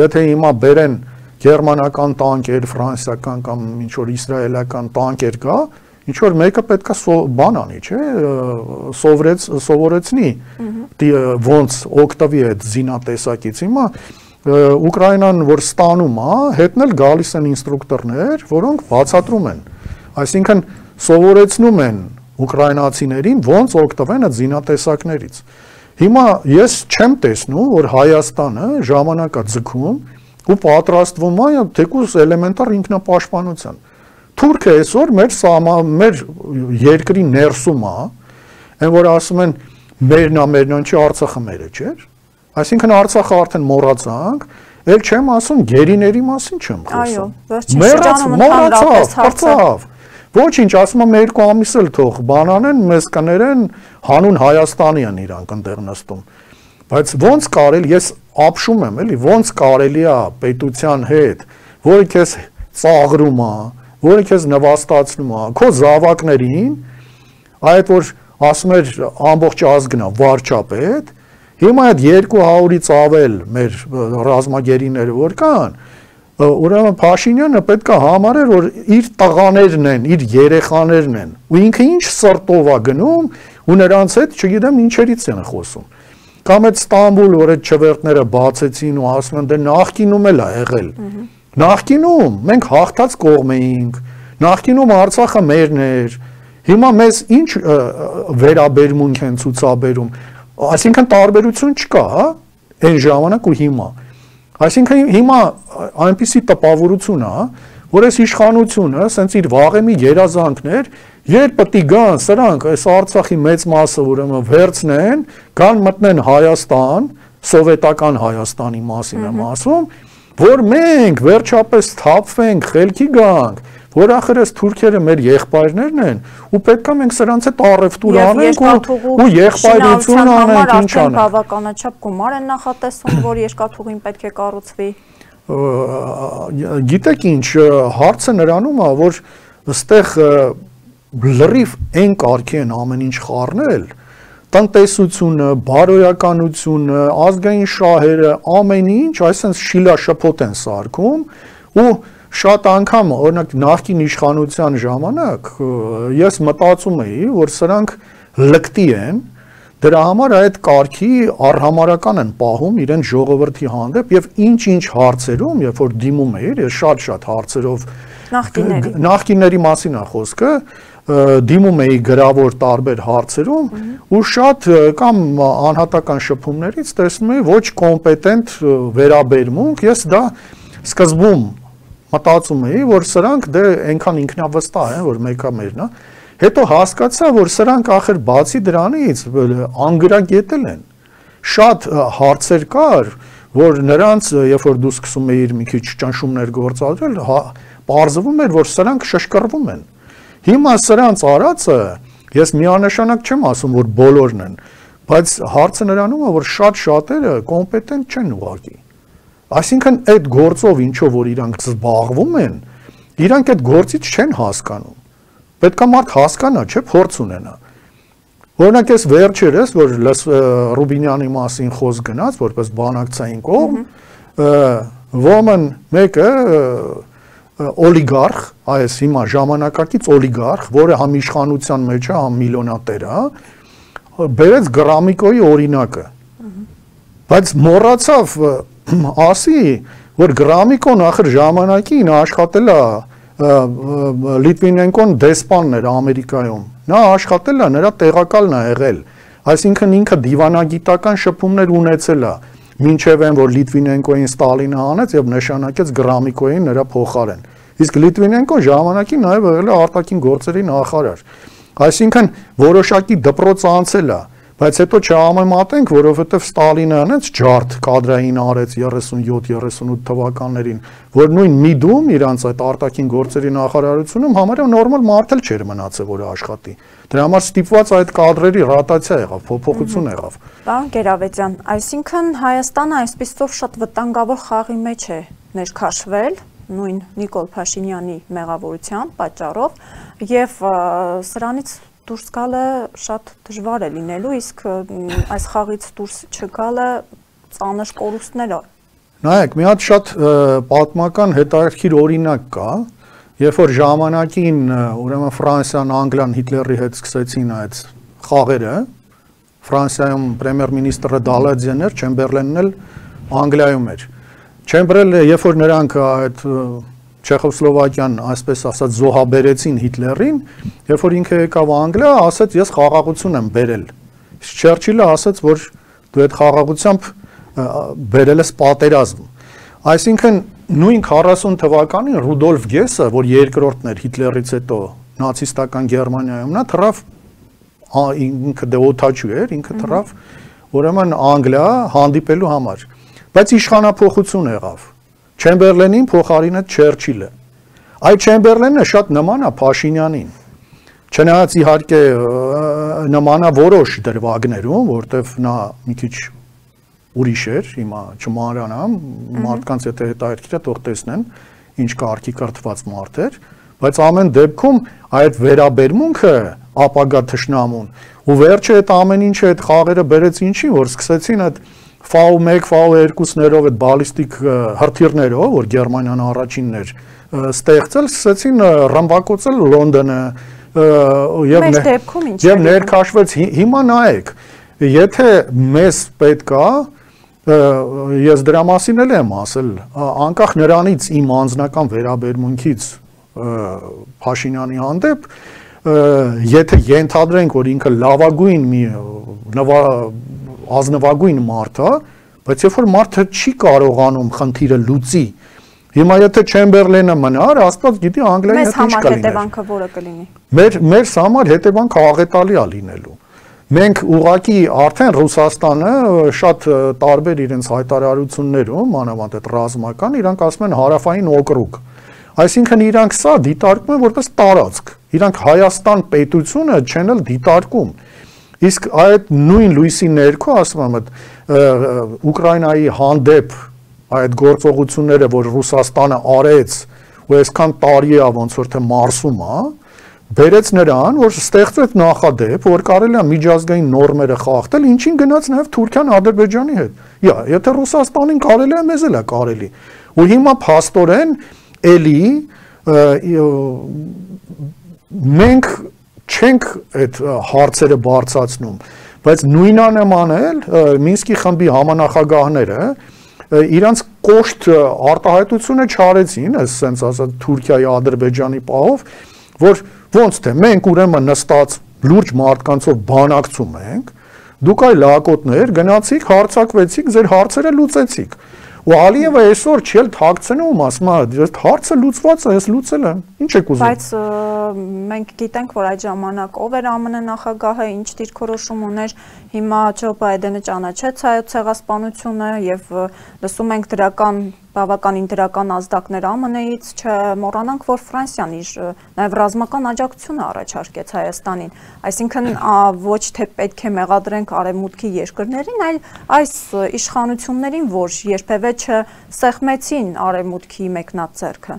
եթե հիմա բերեն գերմանական տանկեր, ֆրանսիական կամ ինչ որ իսրայելական տանկեր կա, ինչ որ մեկը պետքա բան անի, չէ, սովորեց սովորեցնի ոնց օգտվի այդ զինատեսակից։ Հիմա Ուկրաինան որ ստանում է, հետնել գալիս են ինստրուկտորներ, որոնք բացատրում են, այսինքն սովորեցնում են ուկրաինացիներին ոնց օգտվեն այդ զինատեսակներից։ Հիմա ես չեմ տեսնում, որ Հայաստանը ժամանակ է ձգում ու պատրաստվում է թեկուզ էլեմենտար ինքնապաշտպանության։ Թուրքը այսօր մեր սահմա մեր երկրի ներսում է, այն որ ասում են մերն է, մերն չի, Արցախը մերը չէ։ Այսինքն Արցախը արդեն մոռացանք, ել չեմ ասում գերիների մասին չեմ խոսում։ Այո, վերջին շրջանում մոռացավ, հարցավ։ Ոչինչ, ասում եմ երկու ամիս էլ թող բանանեն, մեզ կներեն, հանուն Հայաստանի են իրանք այնտեղ նստում։ Բայց ոնց կարելի, ես ապշում եմ, էլի, ոնց կարելի է պետության հետ, որը քեզ ծաղրում է, որը քեզ նվաստացնում է, քո զավակներին, այդ որ ասում էր ամբողջ ազգն է վարչապետ, հիմա այդ երկու հարյուրից ավել մեր ռազմագերիները որ կան, ուրեմն Փաշինյանը պետք է համարեր, որ իր տղաներն են, իր երեխաներն են, ու ինքը ինչ սրտով է գնում, ու նրանց հետ չգիտեմ ինչերից են խոսում։ Կամ այդ Ստամբուլ, որ այդ չվերտները բացեցին ու ասում են, դե նախկինում էլ է եղել։ Նախկինում մենք հաղթած կողմ էինք, նախկինում Արցախը մերն էր, հիմա մեզ ինչ վերաբերմունք են ցուցաբերում, այսինքն տարբերություն չկա, հա, այն ժամանակ ու հիմա։ Այսինքն հիմա այնպիսի տպավորություն է, որ այս իշխանությունը, սենց իր վաղեմի երազանքներ, երբ պետք է գան սրանք, այս Արցախի մեծ մասը ուրեմն վերցնեն, գան մտնեն Հայաստան, սովետական Հայաստանի մասին եմ ասում, որ մենք վերջապես թափվենք, խելքի գանք, որ ախր այս թուրքերը մեր եղբայրներն են, ու պետքա մենք սրանց հետ առևտուր անենք ու եղբայրություն անենք, ինչ անենք։ Բավականաչափ գումար են նախատեսում, որ երկաթուղին պետք է կառուցվի։ Գիտեք ինչ, հարցը նրանում է, որ այստեղ լրիվ այն կարգի են ամեն ինչ խառնել, տնտեսությունը, բարոյականությունը, ազգային շահերը, ամեն ինչ, այսինքն շիլաշփոթ են սարքում ու շատ անգամ օրինակ նախկին իշխանության ժամանակ ես մտածում էի, որ սրանք լկտի են, դրա համար այդ կարգի առհամարական են պահում իրեն ժողովրդի հանդեպ եւ ինչ-ինչ հարցերում, երբ որ դիմում էի, ես շատ-շատ հարցերով նախկինների նախկինների մասին է խոսքը, դիմում էի գրավոր տարբեր հարցերում ու շատ կամ անհատական շփումներից տեսնում էի ոչ կոմպետենտ վերաբերմունք, ես դա սկզբում մտածում էի, որ սրանք դե այնքան ինքնավստահ են, որ մեկը մերն է, հետո հասկացա, որ սրանք ախր բացի դրանից անգրագետել են, շատ հարցեր կար, որ նրանց, երբ որ դու սկսում էիր մի քիչ ճնշումներ գործադրել, պարզվում էր, որ սրանք շշկռվում են։ Հիմա սրանց արածը, ես միանշանակ չեմ ասում, որ բոլորն են, բայց հարցը նրանում է, որ շատ շատերը կոմպետենտ չեն ուղղակի։ Այսինքն այդ գործով ինչով որ իրանք զբաղվում են, իրանք այդ գործից չեն հասկանում։ Պետք է մարդ հասկանա, չէ, փորձ ունենա։ Օրինակ ես վերջերս, որ Ռուբինյանի մասին խոսք գնաց, որպես բանակցային կողմ, ոմն մեկը օլիգարխ, այս հիմա ժամանակակից օլիգարխ, որը համ իշխանության մեջ է, համ միլիոնատեր է, բերեց Գրամիկոյի օրինակը։ Բայց մոռացավ ասի, որ Գրամիկոն ախր ժամանակին աշխատել է Լիտվինենկոն դեսպանն էր Ամերիկայում։ Նա աշխատել է, նրա տեղակալն է եղել։ Այսինքն ինքը դիվանագիտական շփումներ ունեցել է, մինչև այն, որ Լիտվինենկոին Ստալինը հանեց եւ նշանակեց Գրամիկոյին նրա փոխարեն։ Իսկ Լիտվինենկոն ժամանակին նաև եղել է արտաքին գործերի նախարար։ Այսինքն որոշակի դպրոց անցել է, բայց հետո չհամեմատենք, որովհետև Ստալինը անեց ջարդ կադրային արեց երեսունյոթ երեսունութ թվականներին, որ նույն Միդում իրանց այդ արտաքին գործերի նախարարությունում համարյա նորմալ մարդ էլ չէր մնացել, որ աշխատի։ Դրա համար ստիպված այդ կադրերի ռոտացիա եղավ, փոփոխություն եղավ։ Պարոն Գերավետյան, այսինքն Հայաստանը այսպիսով շատ վտանգավոր խաղի մեջ է ներքաշվել նույն Նիկոլ Փաշինյանի մեղավորության պատճառով եւ սրանից դուրս գալը շատ դժվար է լինելու, իսկ այս խաղից դուրս չգալը ծանր կորուստներ է։ Նայեք, մի հատ շատ պատմական հետաքրքիր օրինակ կա, երբ որ ժամանակին ուրեմն Ֆրանսիան, Անգլիան Հիտլերի հետ սկսեցին այդ խաղերը, Ֆրանսիայում պրեմիեր-մինիստրը Դալադիեն էր, Չեմբերլենն էլ Անգլիայում էր։ Չեմբերլենը, երբ որ նրանք այդ Չեխոսլովակիան, այսպես ասած, զոհաբերեցին Հիտլերին, երբ որ ինքը եկավ Անգլիա, ասաց, ես խաղաղություն եմ բերել։ Չերչիլը ասաց, որ դու այդ խաղաղությամբ բերել ես պատերազմ։ Այսինքն նույն քառասուն թվականին Ռուդոլֆ Գեսը, որ երկրորդն էր Հիտլերից հետո նացիստական Գերմանիայում, նա թռավ ինքը դե օթաչու էր, ինքը թռավ ուրեմն Անգլիա հանդիպելու համար։ Բայց իշխանափոխություն եղավ։ Չեմբերլենին փոխարինեց Չերչիլը։ Այդ Չեմբերլենը շատ նման է Փաշինյանին։ Չնայած իհարկե նման է որոշ դրվագներում, որտեվ նա մի քիչ ուրիշ էր, հիմա չմանրանամ, մարդկանց եթե հետաքրքիր է, թող տեսնեն, ինչ կարգի կրթված մարդ էր, բայց ամեն դեպքում այդ վերաբերմունքը ապագա թշնամուն ու վերջը այդ ամեն ինչը այդ խաղերը բերեց ինչի, որ սկսեցին այդ ֆաու մեկ, ֆաու երկուսներով այդ բալիստիկ հրթիռներով, որ Գերմանիան առաջինն էր, ստեղծել, սկսեցին ռմբակոծել Լոնդոնը եւ ներքաշվեց։ Հիմա նայեք, եթե մեզ պետք է, ես դրա մասին էլ եմ ասել, անկախ նրանից իմ անձնական վերաբերմունքից Փաշինյանի հանդեպ, եթե ենթադրենք, որ ինքը լավագույն մի ազնվագույն մարդ է, բայց երբ որ մարդը չի կարողանում խնդիրը լուծի, հիմա եթե Չեմբերլենը մնար, Աստված գիտի Անգլիայի հետ ինչ կլիներ։ Մեզ համար հետևանքը որը կլինի։ Մեր մեր համար հետևանքը աղետալի է լինելու։ Մենք ուղղակի արդեն Ռուսաստանը շատ տարբեր իրենց հայտարարություններում, մանավանդ այդ ռազմական, իրանք ասում են հարավային օկրուգ։ Այսինքն իրանք սա դիտարկում են որպես տարածք։ Իրանք Հայաստան պետությունը չեն էլ դիտարկում։ Իսկ այդ նույն լույսի ներքո, ասում եմ, այդ Ուկրաինայի հանդեպ այդ գործողությունները, որ Ռուսաստանը արեց, ու այսքան տարի է ոնց որ թե մարսում է, բերեց նրան, որ ստեղծեց նախադեպ, որ կարելի է միջազգային նորմերը խախտել, ինչին գնաց նաև Թուրքիան Ադրբեջանի հետ։ Յա, եթե Ռուսաստանին կարելի է, մեզ էլ է կարելի։ Ու հիմա փաստորեն էլի մենք չենք այդ հարցերը բարձրացնում, բայց նույնանման էլ Մինսկի խմբի համանախագահները իրանց կոշտ արտահայտությունը չարեցին, ասենց ասած Թուրքիայի, Ադրբեջանի պահով, որ ոնց թե մենք ուրեմն նստած լուրջ մարդկանցով բանակցում ենք, դուք այլ լակոտներ գնացիք, հարցակվեցիք, ձեր հարցերը լուծեցիք։ Ու Ալիևը այսօր չի էլ թաքցնում, ասում է, հարցը լուծված է, ես լուծել եմ։ Ինչ եք ուզում։ Բայց մենք գիտենք, որ այդ ժամանակ ով էր ԱՄՆ նախագահը, ինչ դիրքորոշում ուներ, հիմա Ջո Բայդենը ճանաչեց հայոց ցեղասպանությունը եւ լսում ենք դրական բավականին դրական ազդակներ ԱՄՆ-ից, չմոռանանք, որ Ֆրանսիան իր նաև ռազմական աջակցությունը առաջարկեց Հայաստանին, այսինքն ոչ թե պետք է մեղադրենք արևմուտքի երկրներին, այլ այս իշխանություններին, որ երբևէ չսեղմեցին արևմուտքի մեկնած ձեռքը։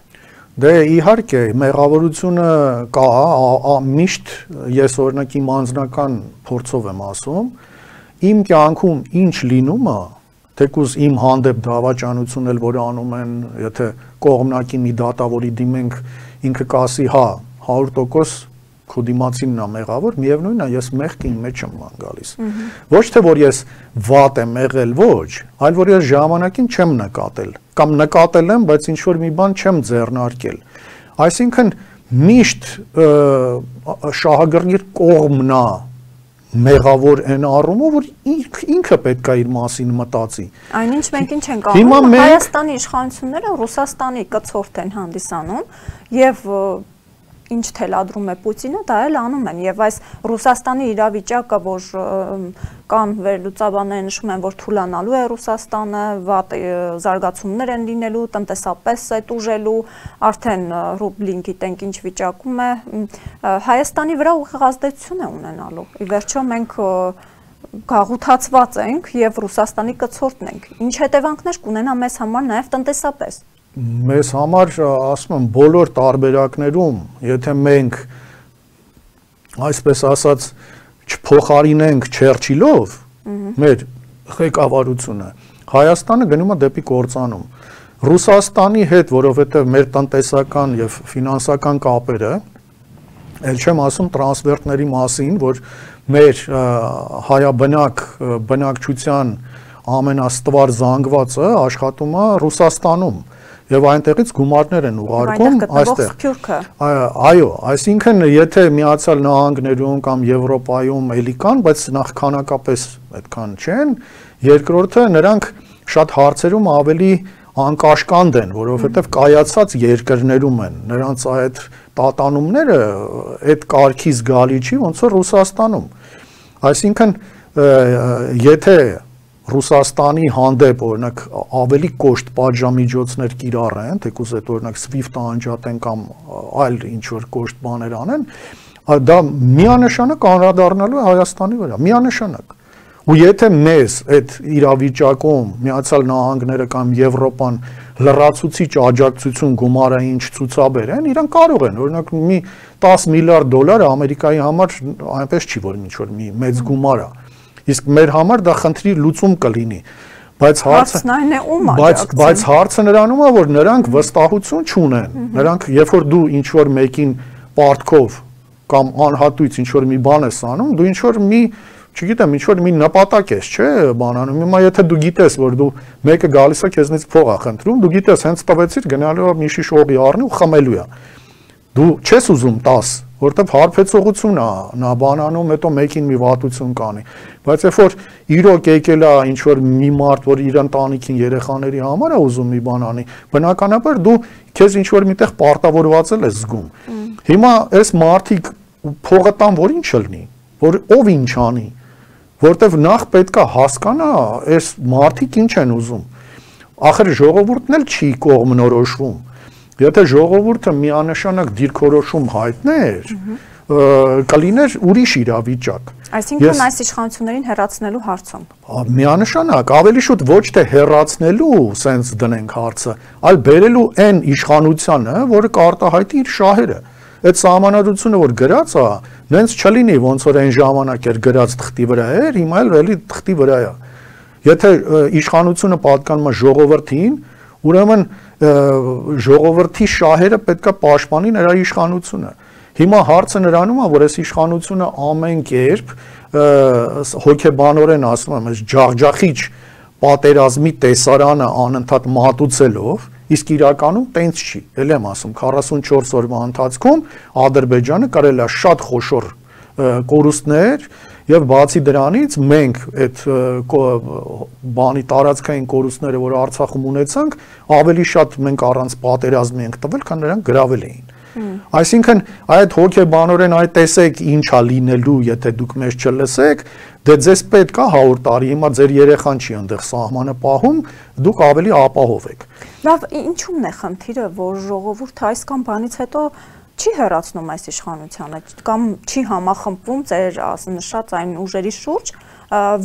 Դե իհարկե, մեղավորությունը կա, միշտ ես օրինակ իմ անձնական փորձով եմ ասում, իմ կյանքում ինչ լինում է, թեկուզ իմ հանդեպ դավաճանություն էլ որ անում են, եթե կողմնակի մի դատավորի դիմենք, ինքը կասի, հա, հարյուր տոկոս քո դիմացինն է մեղավոր, միևնույնն է, ես մեղքի մեջ եմ ման գալիս։ Ոչ թե որ ես վատ եմ եղել, ոչ, այլ որ ես ժամանակին չեմ նկատել, կամ նկատել եմ, բայց ինչ որ մի բան չեմ ձեռնարկել։ Այսինքն միշտ շահագրգիռ կողմն է մեղավոր են առումով, որ ինքը պետք է իր մասին մտածի։ Այնինչ մենք ինչ ենք անում, Հայաստանի իշխանությունները Ռուսաստանի կցորդ են հանդիսանում եւ ինչ թելադրում է Պուտինը, դա էլ անում են եւ այս Ռուսաստանի իրավիճակը, որ կան վերլուծաբանները նշում են, որ թուլանալու է Ռուսաստանը, վատ զարգացումներ են լինելու, տնտեսապես է տուժելու, արդեն ռուբլին գիտենք ինչ վիճակում է, Հայաստանի վրա ուղիղ ազդեցություն է ունենալու։ Ի վերջո մենք գաղութացված ենք եւ Ռուսաստանի կցորդն ենք։ Ինչ հետևանքներ կունենա մեզ համար նաեւ տնտեսապես։ Մեզ համար, ասում եմ, բոլոր տարբերակներում, եթե մենք, այսպես ասած, չփոխարինենք Չերչիլով մեր ղեկավարությունը, Հայաստանը գնում է դեպի կործանում։ Ռուսաստանի հետ, որովհետև մեր տնտեսական եւ ֆինանսական կապերը, ել չեմ ասում տրանսֆերտների մասին, որ մեր հայաբնակ բնակչության ամենաստվար զանգվածը աշխատում է Ռուսաստանում եւ այնտեղից գումարներ են ուղարկում այստեղ։ Այո, այսինքն եթե Միացյալ Նահանգներում կամ Եվրոպայում էլի կան, բայց նախքանակապես այդքան չեն, երկրորդը նրանք շատ հարցերում ավելի անկաշկանդ են, որովհետեւ կայացած երկրներում են, նրանց այդ տատանումները այդ կարգի զգալի չի, ոնց որ Ռուսաստանում։ Այսինքն եթե Ռուսաստանի հանդեպ օրինակ ավելի կոշտ պատժամիջոցներ կիրառեն, թեկուզ այդ օրինակ SWIFT-ը անջատեն կամ այլ ինչ որ կոշտ բաներ անեն, դա միանշանակ անդրադառնալու է Հայաստանի վրա, միանշանակ։ Ու եթե մեզ այդ իրավիճակում Միացյալ Նահանգները կամ Եվրոպան լրացուցիչ աջակցություն գումարային չցուցաբերեն, իրենք կարող են, օրինակ մի տասը միլիարդ դոլար Ամերիկայի համար այնպես չի, որ ինչ որ մի մեծ գումար է։ Իսկ մեր համար դա խնդրի լուծում կլինի, բայց հարցը բայց բայց հարցը նրանում է, որ նրանք վստահություն չունեն, նրանք երբ որ դու ինչ որ մեկին պարտքով կամ անհատույց ինչ որ մի բան ես անում, դու ինչ որ մի, չգիտեմ, ինչ որ մի նպատակ ես, չէ, բանանում, հիմա եթե դու գիտես, որ դու մեկը գալիս է քեզնից փող է խնդրում, դու գիտես, հենց տվեցիր գնալու է մի շիշ օղի առնի ու խմելու է, դու չես ուզում տասը, որտեվ հարբեցողություն է, նա բանանում, հետո մեկին մի վատություն կանի, բայց երբ որ իրոք եկել է ինչ որ մի մարդ, որ իր ընտանիքին երեխաների համար է ուզում մի բան անի, բնականաբար դու քեզ ինչ որ միտեղ պարտավորված ես զգում։ Հիմա այս մարդիկ փողը տան, որ ինչ լինի, որ ով ինչ անի, որտեվ նախ պետքա հասկանա այս մարդիկ ինչ են ուզում։ Ախր ժողովուրդն էլ չի կողմնորոշվում։ Եթե ժողովուրդը միանշանակ դիրքորոշում հայտներ, կլիներ ուրիշ իրավիճակ։ Այսինքն այս իշխանություններին հեռացնելու հարցում։ Միանշանակ, ավելի շուտ ոչ թե հեռացնելու սենց դնենք հարցը, այլ բերելու այն իշխանությանը, որը կարտահայտի իր շահերը։ Այդ սահմանադրությունը, որ գրած է, նենց չլինի, ոնց որ այն ժամանակ էր գրած թղթի վրա էր, հիմա էլ էլի թղթի վրա է։ Եթե իշխանությունը պատկանում է ժողովրդին, ուրեմն ժողովրդի շահերը պետք է պաշտպանի նրա իշխանությունը։ Հիմա հարցը նրանում է, որ այս իշխանությունը ամեն կերպ հոգեբանորեն ասում եմ, այս ջախջախիչ պատերազմի տեսարանը անընդհատ մատուցելով, իսկ իրականում տենց չի։ Էլ եմ ասում, քառասունչորս օրվա ընթացքում Ադրբեջանը կարել է շատ խոշոր կորուստներ եւ բացի դրանից մենք այդ բանի տարածքային կորուստները, որ Արցախում ունեցանք, ավելի շատ մենք առանց պատերազմի ենք տվել, քան նրանք գրավել էին։ Այսինքն այդ հոգեբանորեն այդ տեսեք ինչա լինելու, եթե դուք մեզ չլսեք, դե ձեզ պետք է հարյուր տարի, հիմա ձեր երեխան չի այնտեղ սահմանը պահում, դուք ավելի ապահով եք։ Լավ, ինչու՞մն է խնդիրը, որ ժողովուրդը այս կամ բանից հետո չի հեռացնում այս իշխանությանը կամ չի համախմբվում ձեր նշած այն ուժերի շուրջ,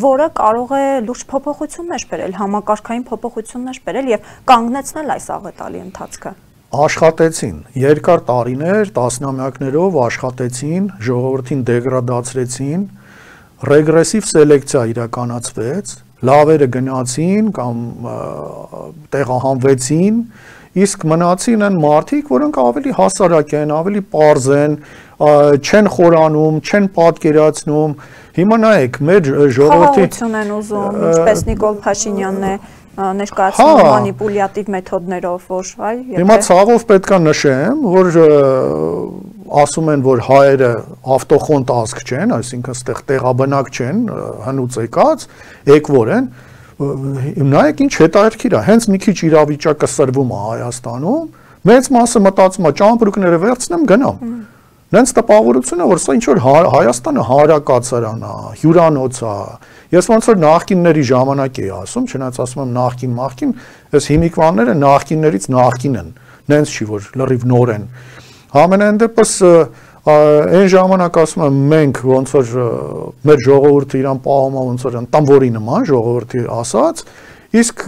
որը կարող է լուրջ փոփոխություններ բերել, համակարգային փոփոխություններ բերել եւ կանգնեցնել այս աղետալի ընթացքը։ Աշխատեցին, երկար տարիներ, տասնամյակներով աշխատեցին, ժողովրդին դեգրադացրեցին, ռեգրեսիվ սելեկցիա իրականացվեց, լավերը գնացին կամ տեղահանվեցին, իսկ մնացին են մարդիկ, որոնք ավելի հասարակ են, ավելի պարզ են, չեն խորանում, չեն պատկերացնում։ Հիմա նայեք, մեր ժողովրդի խաղաղություն են ուզում, ինչպես Նիկոլ Փաշինյանն է ներկայացնում մանիպուլյատիվ մեթոդներով, որ այ Հիմա ցավով պետք է նշեմ, որ ասում են, որ հայերը ավտոխոնտ ազգ չեն, այսինքն ստեղ տեղաբնակ չեն, հնուց եկած, եկվոր են։ Նայեք ինչ հետաքրքիր է, հենց մի քիչ իրավիճակը սրվում է Հայաստանում, մեծ մասը մտածում է ճամպրուկները վերցնեմ գնամ։ Նենց տպավորությունը, որ սա ինչ որ Հայաստանը հանրակացարան է, հյուրանոց է։ Ես ոնց որ նախկինների ժամանակ էի ասում, չնայած ասում եմ նախկին, նախկին, այս հիմիկվանները նախկիններից նախկին են։ Նենց չի, որ լրիվ նոր են։ Համենայն դեպս այն ժամանակ ասում եմ մենք ոնց որ մեր ժողովուրդը իրան պահում է ոնց որ տամվորի նման ժողովրդի ասած, իսկ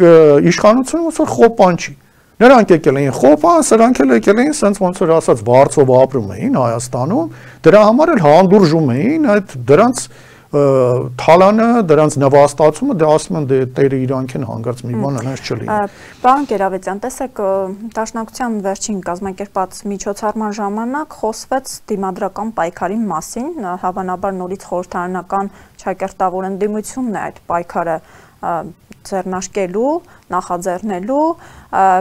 իշխանությունը ոնց որ խոպան չի։ Նրանք եկել էին խոպան, սրանք էլ եկել էին սենց ոնց որ ասած վարձով ապրում էին Հայաստանում, դրա համար էլ հանդուրժում էին այդ դրանց թալանը, դրանց նվաստացումը, դե ասում են դե տերը իրանք են հանգարց մի բան այնպես չլինի։ Պարոն Գերավետյան, տեսեք, Դաշնակցության վերջին կազմակերպած միջոցառման ժամանակ խոսվեց դիմադրական պայքարի մասին, հավանաբար նորից խորհրդարանական ճակերտավոր ընդդիմությունն է այդ պայքարը ձեռնարկելու, նախաձեռնելու,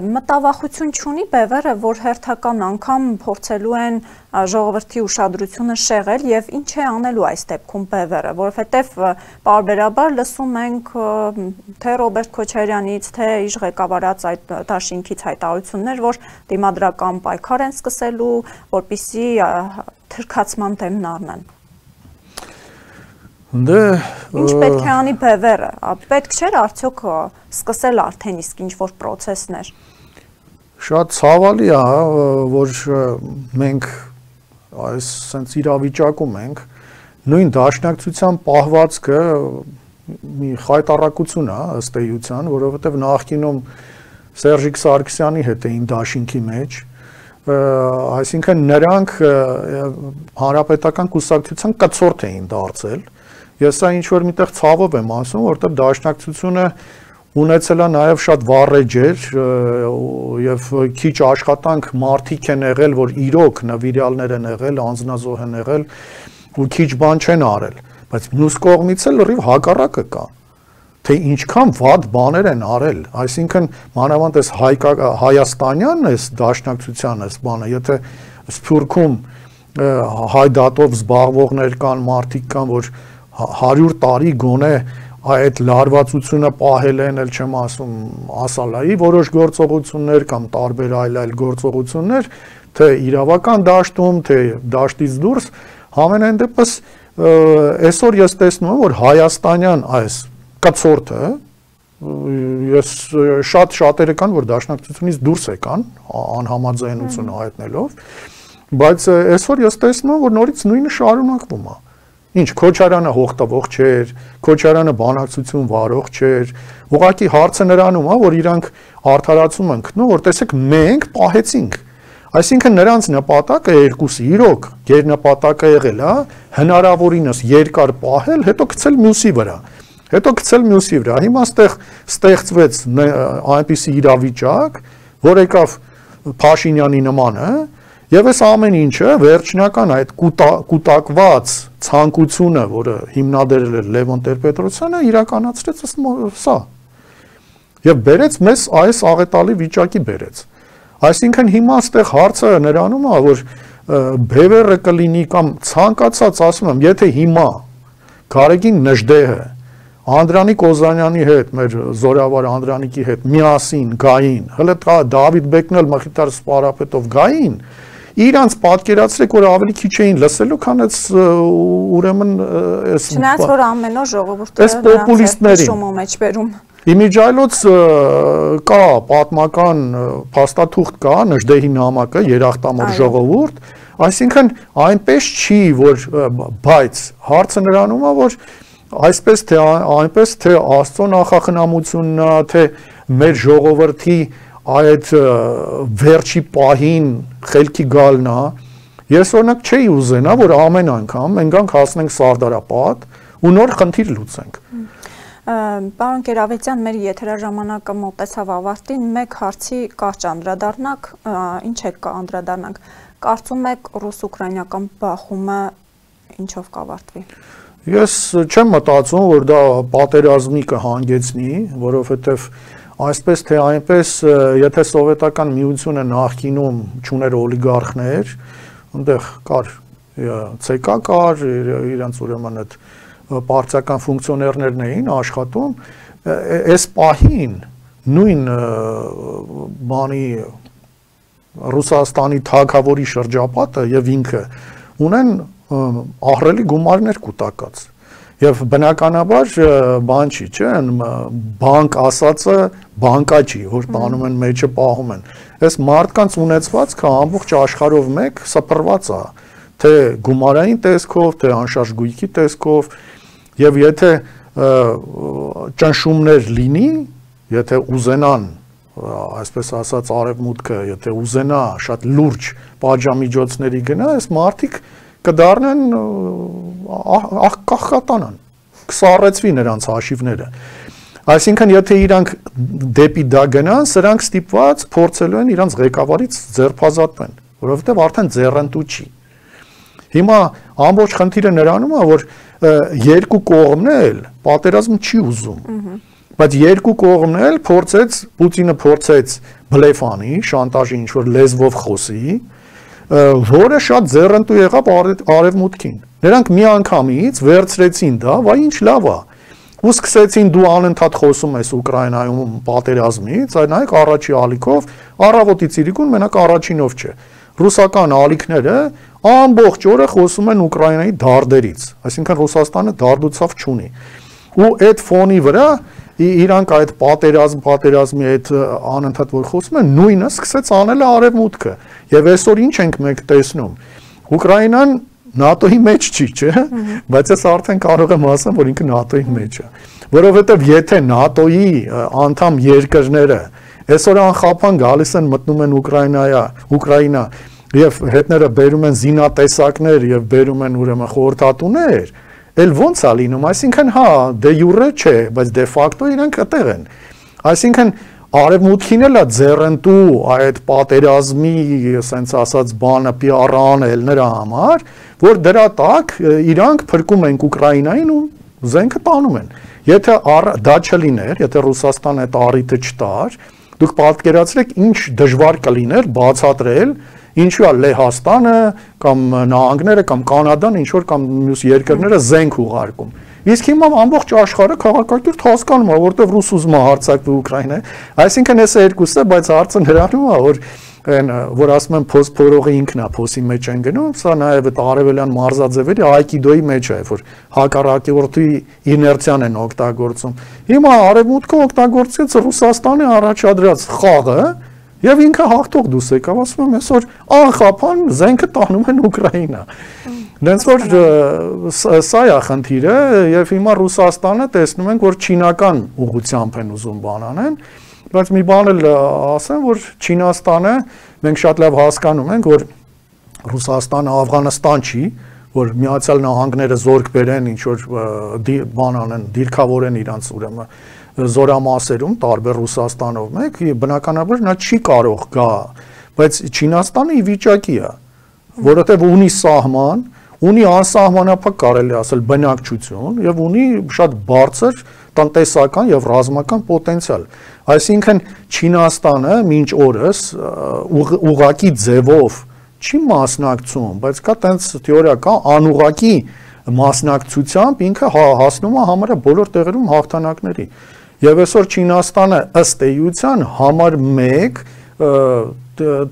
մտավախություն չունի Բևերը, որ հերթական անգամ փորձելու են ժողովրդի ուշադրությունը շեղել եւ ինչ է անելու այս դեպքում Բևերը, որովհետեւ պարբերաբար լսում ենք թե Ռոբերտ Քոչարյանից, թե իր ղեկավարած այդ դաշինքից հայտարարություններ, որ դիմադրական պայքար են սկսելու, որպեսզի թրքացման դեմն առնեն։ Դե Ինչ պետք է անի Բևերը, պետք չէր արդյոք սկսել արդեն իսկ ինչ-որ պրոցեսներ։ Շատ ցավալի է, որ մենք այս սենց իրավիճակում ենք, նույն դաշնակցության պահվածքը մի խայտառակություն է ըստ էության, որովհետև նախկինում Սերժիկ Սարգսյանի հետ էին դաշինքի մեջ, այսինքն նրանք հանրապետական կուսակցության կցորդ էին դարձել։ Ես սա ինչ-որ միտեղ ցավով եմ ասում, որտեղ դաշնակցությունը ունեցել է նաև շատ վառեջեր եւ քիչ աշխատանք մարդիկ են եղել, որ իրոք նվիրյալներ են եղել, անձնազոհ են եղել ու քիչ բան չեն արել, բայց մյուս կողմից էլ լրիվ հակառակը կա, թե ինչքան վատ բաներ են արել, այսինքն մանավանդ այս հայաստանյան այս դաշնակցության այս բանը, եթե Սփյուռքում հայդատով զբաղվողներ կան, մարդիկ կան, որ հարյուր տարի գոնե այդ լարվածությունը պահել են, էլ չեմ ասում ասալայի որոշ գործողություններ կամ տարբեր այլ այլ գործողություններ, թե իրավական դաշտում, թե դաշտից դուրս, համենայն դեպս այսօր ես տեսնում եմ, որ հայաստանյան այս կցորդը, ես շատ շատերը կան, որ դաշնակցությունից դուրս եկան, անհամաձայնությունը հայտնելով, բայց այսօր ես տեսնում եմ, որ նորից նույնը շարունակվում է։ Ինչ Քոչարյանը հողտվող չէր, Քոչարյանը բանակցություն վարող չէր, ուղղակի հարցը նրանում է, որ իրանք արդարացում են գտնում, որ տեսեք մենք պահեցինք։ Այսինքն նրանց նպատակը երկուսի, իրոք, գերնպատակը եղել է հնարավորինս երկար պահել, հետո գցել մյուսի վրա։ Հետո գցել մյուսի վրա։ Հիմա ստեղ ստեղծվեց այնպիսի իրավիճակ, որ եկավ Փաշինյանի նմանը, եւ այս ամեն ինչը վերջնական այդ կուտակված ցանկությունը, որը հիմնադրել էր Լևոն Տեր-Պետրոսյանը, իրականացրեց սա։ Եվ բերեց մեզ այս աղետալի վիճակի բերեց։ Այսինքն հիմա այստեղ հարցը նրանում է, որ բևեռը կլինի կամ ցանկացած, ասում եմ, եթե հիմա Գարեգին Նժդեհը Անդրանիկ Օզանյանի հետ, մեր զորավար Անդրանիկի հետ միասին գային, հələ Դավիթ Բեկնել Մխիթար Սպարապետով գային, իրանց պատկերացրեք, որ ավելի քիչ էին լսելու, քան այս ուրեմն այս Չնայած որ ամեն օր ժողովուրդը այս պոպուլիստներին շոմո մեջ բերում։ Իմիջայլոց կա պատմական փաստաթուղթ կա, Նժդեհի նամակը, երախտամոռ ժողովուրդ, այսինքն այնպես չի, որ բայց հարցը նրանում է, որ այսպես թե այնպես թե Աստծո նախախնամությունն է, թե մեր ժողովրդի այդ վերջի պահին խելքի գալն է, ես օրինակ չէի ուզենա, որ ամեն անգամ մենք գանք հասնենք Սարդարապատ ու նոր խնդիր լուծենք։ Պարոն Կերավետյան, մեր եթերաժամանակը մոտեցավ ավարտին, մեկ հարցի կարճ անդրադառնանք, ինչ է անդրադառնանք, կարծում եք ռուս-ուկրաինական բախումը ինչով կավարտվի։ Ես չեմ մտածում, որ դա պատերազմի կհանգեցնի, որովհետև այսպես թե այնպես, եթե սովետական միությունը նախկինում չուներ օլիգարխներ, այնտեղ կար ՑԿ կար, իրանց ուրեմն այդ պարտիական ֆունկցիոներներն էին աշխատում, այս պահին նույն բանի Ռուսաստանի թագավորի շրջապատը եւ ինքը ունեն ահռելի գումարներ կուտակած եւ բնականաբար բան չի, չէ, բանկ ասածը բանկա չի, որ տանում են մեջը պահում են։ Այս մարդկանց ունեցվածքը ամբողջ աշխարհով մեկ սփռված է, թե գումարային տեսքով, թե անշարժ գույքի տեսքով, եւ եթե ճնշումներ լինի, եթե ուզենան, այսպես ասած արևմուտքը, եթե ուզենա շատ լուրջ պատժամիջոցների գնա, այս մարդիկ կդառնան աղքատանան, կսառեցվի նրանց հաշիվները։ Այսինքն եթե իրանք դեպի դա գնան, սրանք ստիպված փորձելու են իրանց ղեկավարից ձերբազատվեն, որովհետև արդեն ձեռնտու չի։ Հիմա ամբողջ խնդիրը նրանում է, որ երկու կողմն էլ պատերազմ չի ուզում, բայց երկու կողմն էլ փորձեց, Պուտինը փորձեց բլեֆ անի, շանտաժի ինչ-որ լեզվով խոսի, որը շատ ձեռնտու եղավ արևմուտքին։ Նրանք միանգամից վերցրեցին դա, վայ ինչ լավ է, ու սկսեցին դու անընդհատ խոսում ես Ուկրաինայում պատերազմից, այլ նայեք առաջի ալիքով, առավոտի ցիրիկուն մենակ առաջինով չէ։ Ռուսական ալիքները ամբողջ օրը խոսում են Ուկրաինայի դարդերից, այսինքն Ռուսաստանը դարդուցավ չունի։ Ու այդ ֆոնի վրա իրանք այդ պատերազմ, պատերազմի այդ անընդհատ որ խոսում են, նույնը սկսեց անել արևմուտքը։ Եվ այսօր ինչ ենք մենք տեսնում։ Ուկրաինան ՆԱՏՕ-ի մեջ չի, չէ՞, բայց ես արդեն կարող եմ ասեմ, որ ինքը ՆԱՏՕ-ի մեջ է։ Որովհետև եթե ՆԱՏՕ-ի անդամ երկրները այսօր անխափան գալիս են մտնում են Ուկրաինայա, Ուկրաինա եւ հետները բերում են զինատեսակներ եւ բերում են ուրեմն խորհրդատուներ, էլ ոնց է լինում, այսինքն հա դե յուրե չէ, բայց դե ֆակտո իրանք այդտեղ են։ Այսինքն արևմուտքին էլ է ձեռնտու այդ պատերազմի, ասենց ասած բանը պի ար անել նրա համար, որ դրա տակ իրանք փրկում են Ուկրաինային ու զենքը տանում են։ Եթե դա չլիներ, եթե Ռուսաստանը այդ առիթը չտար, դուք պատկերացրեք ինչ դժվար կլիներ բացատրել ինչու է Լեհաստանը կամ նահանգները կամ Կանադան ինչ որ կամ մյուս երկրները զենք ուղարկում։ Իսկ հիմա ամբողջ աշխարհը քաղաքակիրթ հասկանում է, որտեղ ռուս ուզում է հարձակվի Ուկրաինա։ Այսինքն այս երկուսը, բայց հարցը նրանում է, որ այն որ ասում են փոս փորողը ինքն է փոսի մեջ են գնում, սա նաև այդ արևելյան մարզաձևերի այկիդոյի մեջ է, որ հակառակորդի իներցիան են օգտագործում։ Հիմա արևմուտքը օգտագործեց Ռուսաստանի առաջադրած խաղը եւ ինքը հաղթող դուս եկավ, ասում եմ այսօր անխափան զենքը տանում են Ուկրաինա։ Դենց որ սա է խնդիրը եւ հիմա Ռուսաստանը տեսնում ենք, որ չինական ուղղությամբ են ուզում բան անեն, բայց մի բան էլ ասեմ, որ Չինաստանը մենք շատ լավ հասկանում ենք, որ Ռուսաստանը Աֆղանստան չի, որ Միացյալ Նահանգները զորք բերեն, ինչ որ բան անեն, դիրքավորեն իրանց ուրեմն զորամասերում, տարբեր Ռուսաստանով մեկ, բնականաբար նա չի կարող գա, բայց Չինաստանը ի վիճակի է, որովհետև ունի սահման, ունի անսահմանափակ կարելի ասել բնակչություն եւ ունի շատ բարձր տնտեսական եւ ռազմական պոտենցիալ։ Այսինքն Չինաստանը մինչ օրս ուղղակի ձևով չի մասնակցում, բայց կա տենց թեորիա կա անուղղակի մասնակցությամբ ինքը հասնում է համարյա բոլոր տեղերում հաղթանակների։ Եվ այսօր Չինաստանը ըստ էության համար մեկ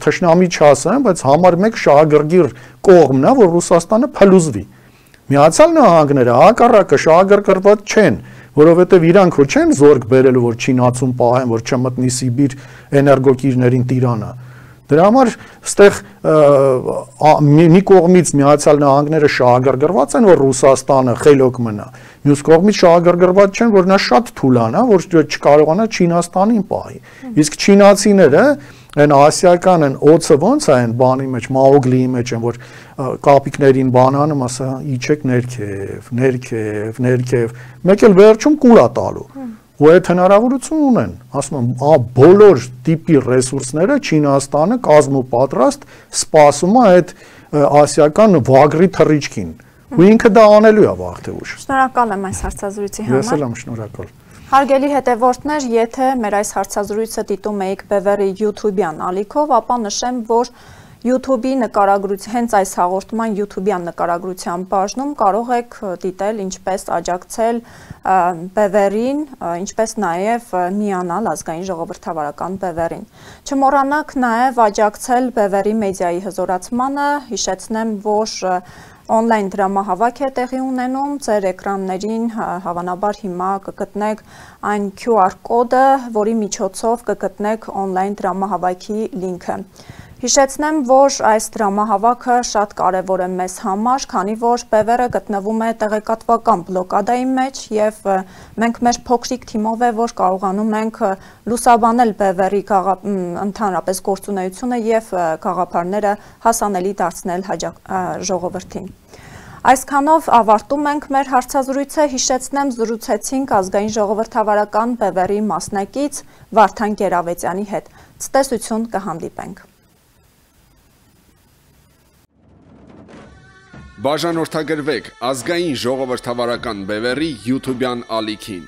թշնամի չասեմ, բայց համար մեկ շահագրգիռ կողմն է, որ Ռուսաստանը փլուզվի։ Միացյալ Նահանգները հակառակը շահագրգռված չեն, որովհետև իրանք որ չեն զորք բերելու, որ Չինացուն պահեն, որ չմտնի Սիբիր էներգոկիրներին տիրանը։ Դրա համար ստեղ մի կողմից Միացյալ Նահանգները շահագրգռված են, որ Ռուսաստանը խելոք մնա, մյուս կողմից շահագրգռված չեն, որ նա շատ թուլանա, որ չկարողանա Չինաստանին պահի։ Իսկ չինացիները այն ասիական են օծը ոնց է այն բանի մեջ, Մաուգլիի մեջ են, որ կապիկներին բանանում, ասա, իջեք ներքև, ներքև, ներքև, մեկ էլ վերջում կուլ է տալու։ Ու այդ հնարավորություն ունեն, ասում եմ, բոլոր տիպի ռեսուրսները Չինաստանը կազմու պատրաստ սպասում է այդ ասիական վագրի թռիչքին։ Ու ինքը դա անելու է վաղ թե ուշ։ Շնորհակալ եմ այս հարցազրույցի համար։ Ես էլ եմ շնորհակալ։ Հարգելի հետևորդներ, եթե մեր այս հարցազրույցը դիտում եք Բևերի YouTube-յան ալիքով, ապա նշեմ, որ YouTube-ի նկարագրության, հենց այս հաղորդման YouTube-յան նկարագրության բաժնում կարող եք դիտել ինչպես աջակցել Բևերին, ինչպես նաև միանալ ազգային ժողովրդավարական Բևերին։ Չմոռանաք նաև աջակցել Բևերի մեդիայի հզորացմանը, հիշեցնեմ, որ on-line դրամահավաք է տեղի ունենում, ձեր էկրաններին հավանաբար հիմա կգտնեք այն Q R կոդը, որի միջոցով կգտնեք on-line դրամահավաքի լինքը։ Հիշեցնեմ, որ այս դրամահավաքը շատ կարևոր է մեզ համար, քանի որ Բևերը գտնվում է տեղեկատվական բլոկադայի մեջ եւ մենք մեր փոքրիկ թիմով է, որ կարողանում ենք լուսաբանել Բևերի ընդհանրապես գործունեությունը եւ գաղափարները հասանելի դարձնել ժողովրդին։ Այսքանով ավարտում ենք մեր հարցազրույցը, հիշեցնեմ զրուցեցինք ազգային ժողովրդավարական Բևերի մասնակից Վարդան Գերավետյանի հետ։ Ցտեսություն, կհանդիպենք։ Բաժանորդագրվեք ազգային ժողովրդավարական Բևերի YouTube-յան ալիքին։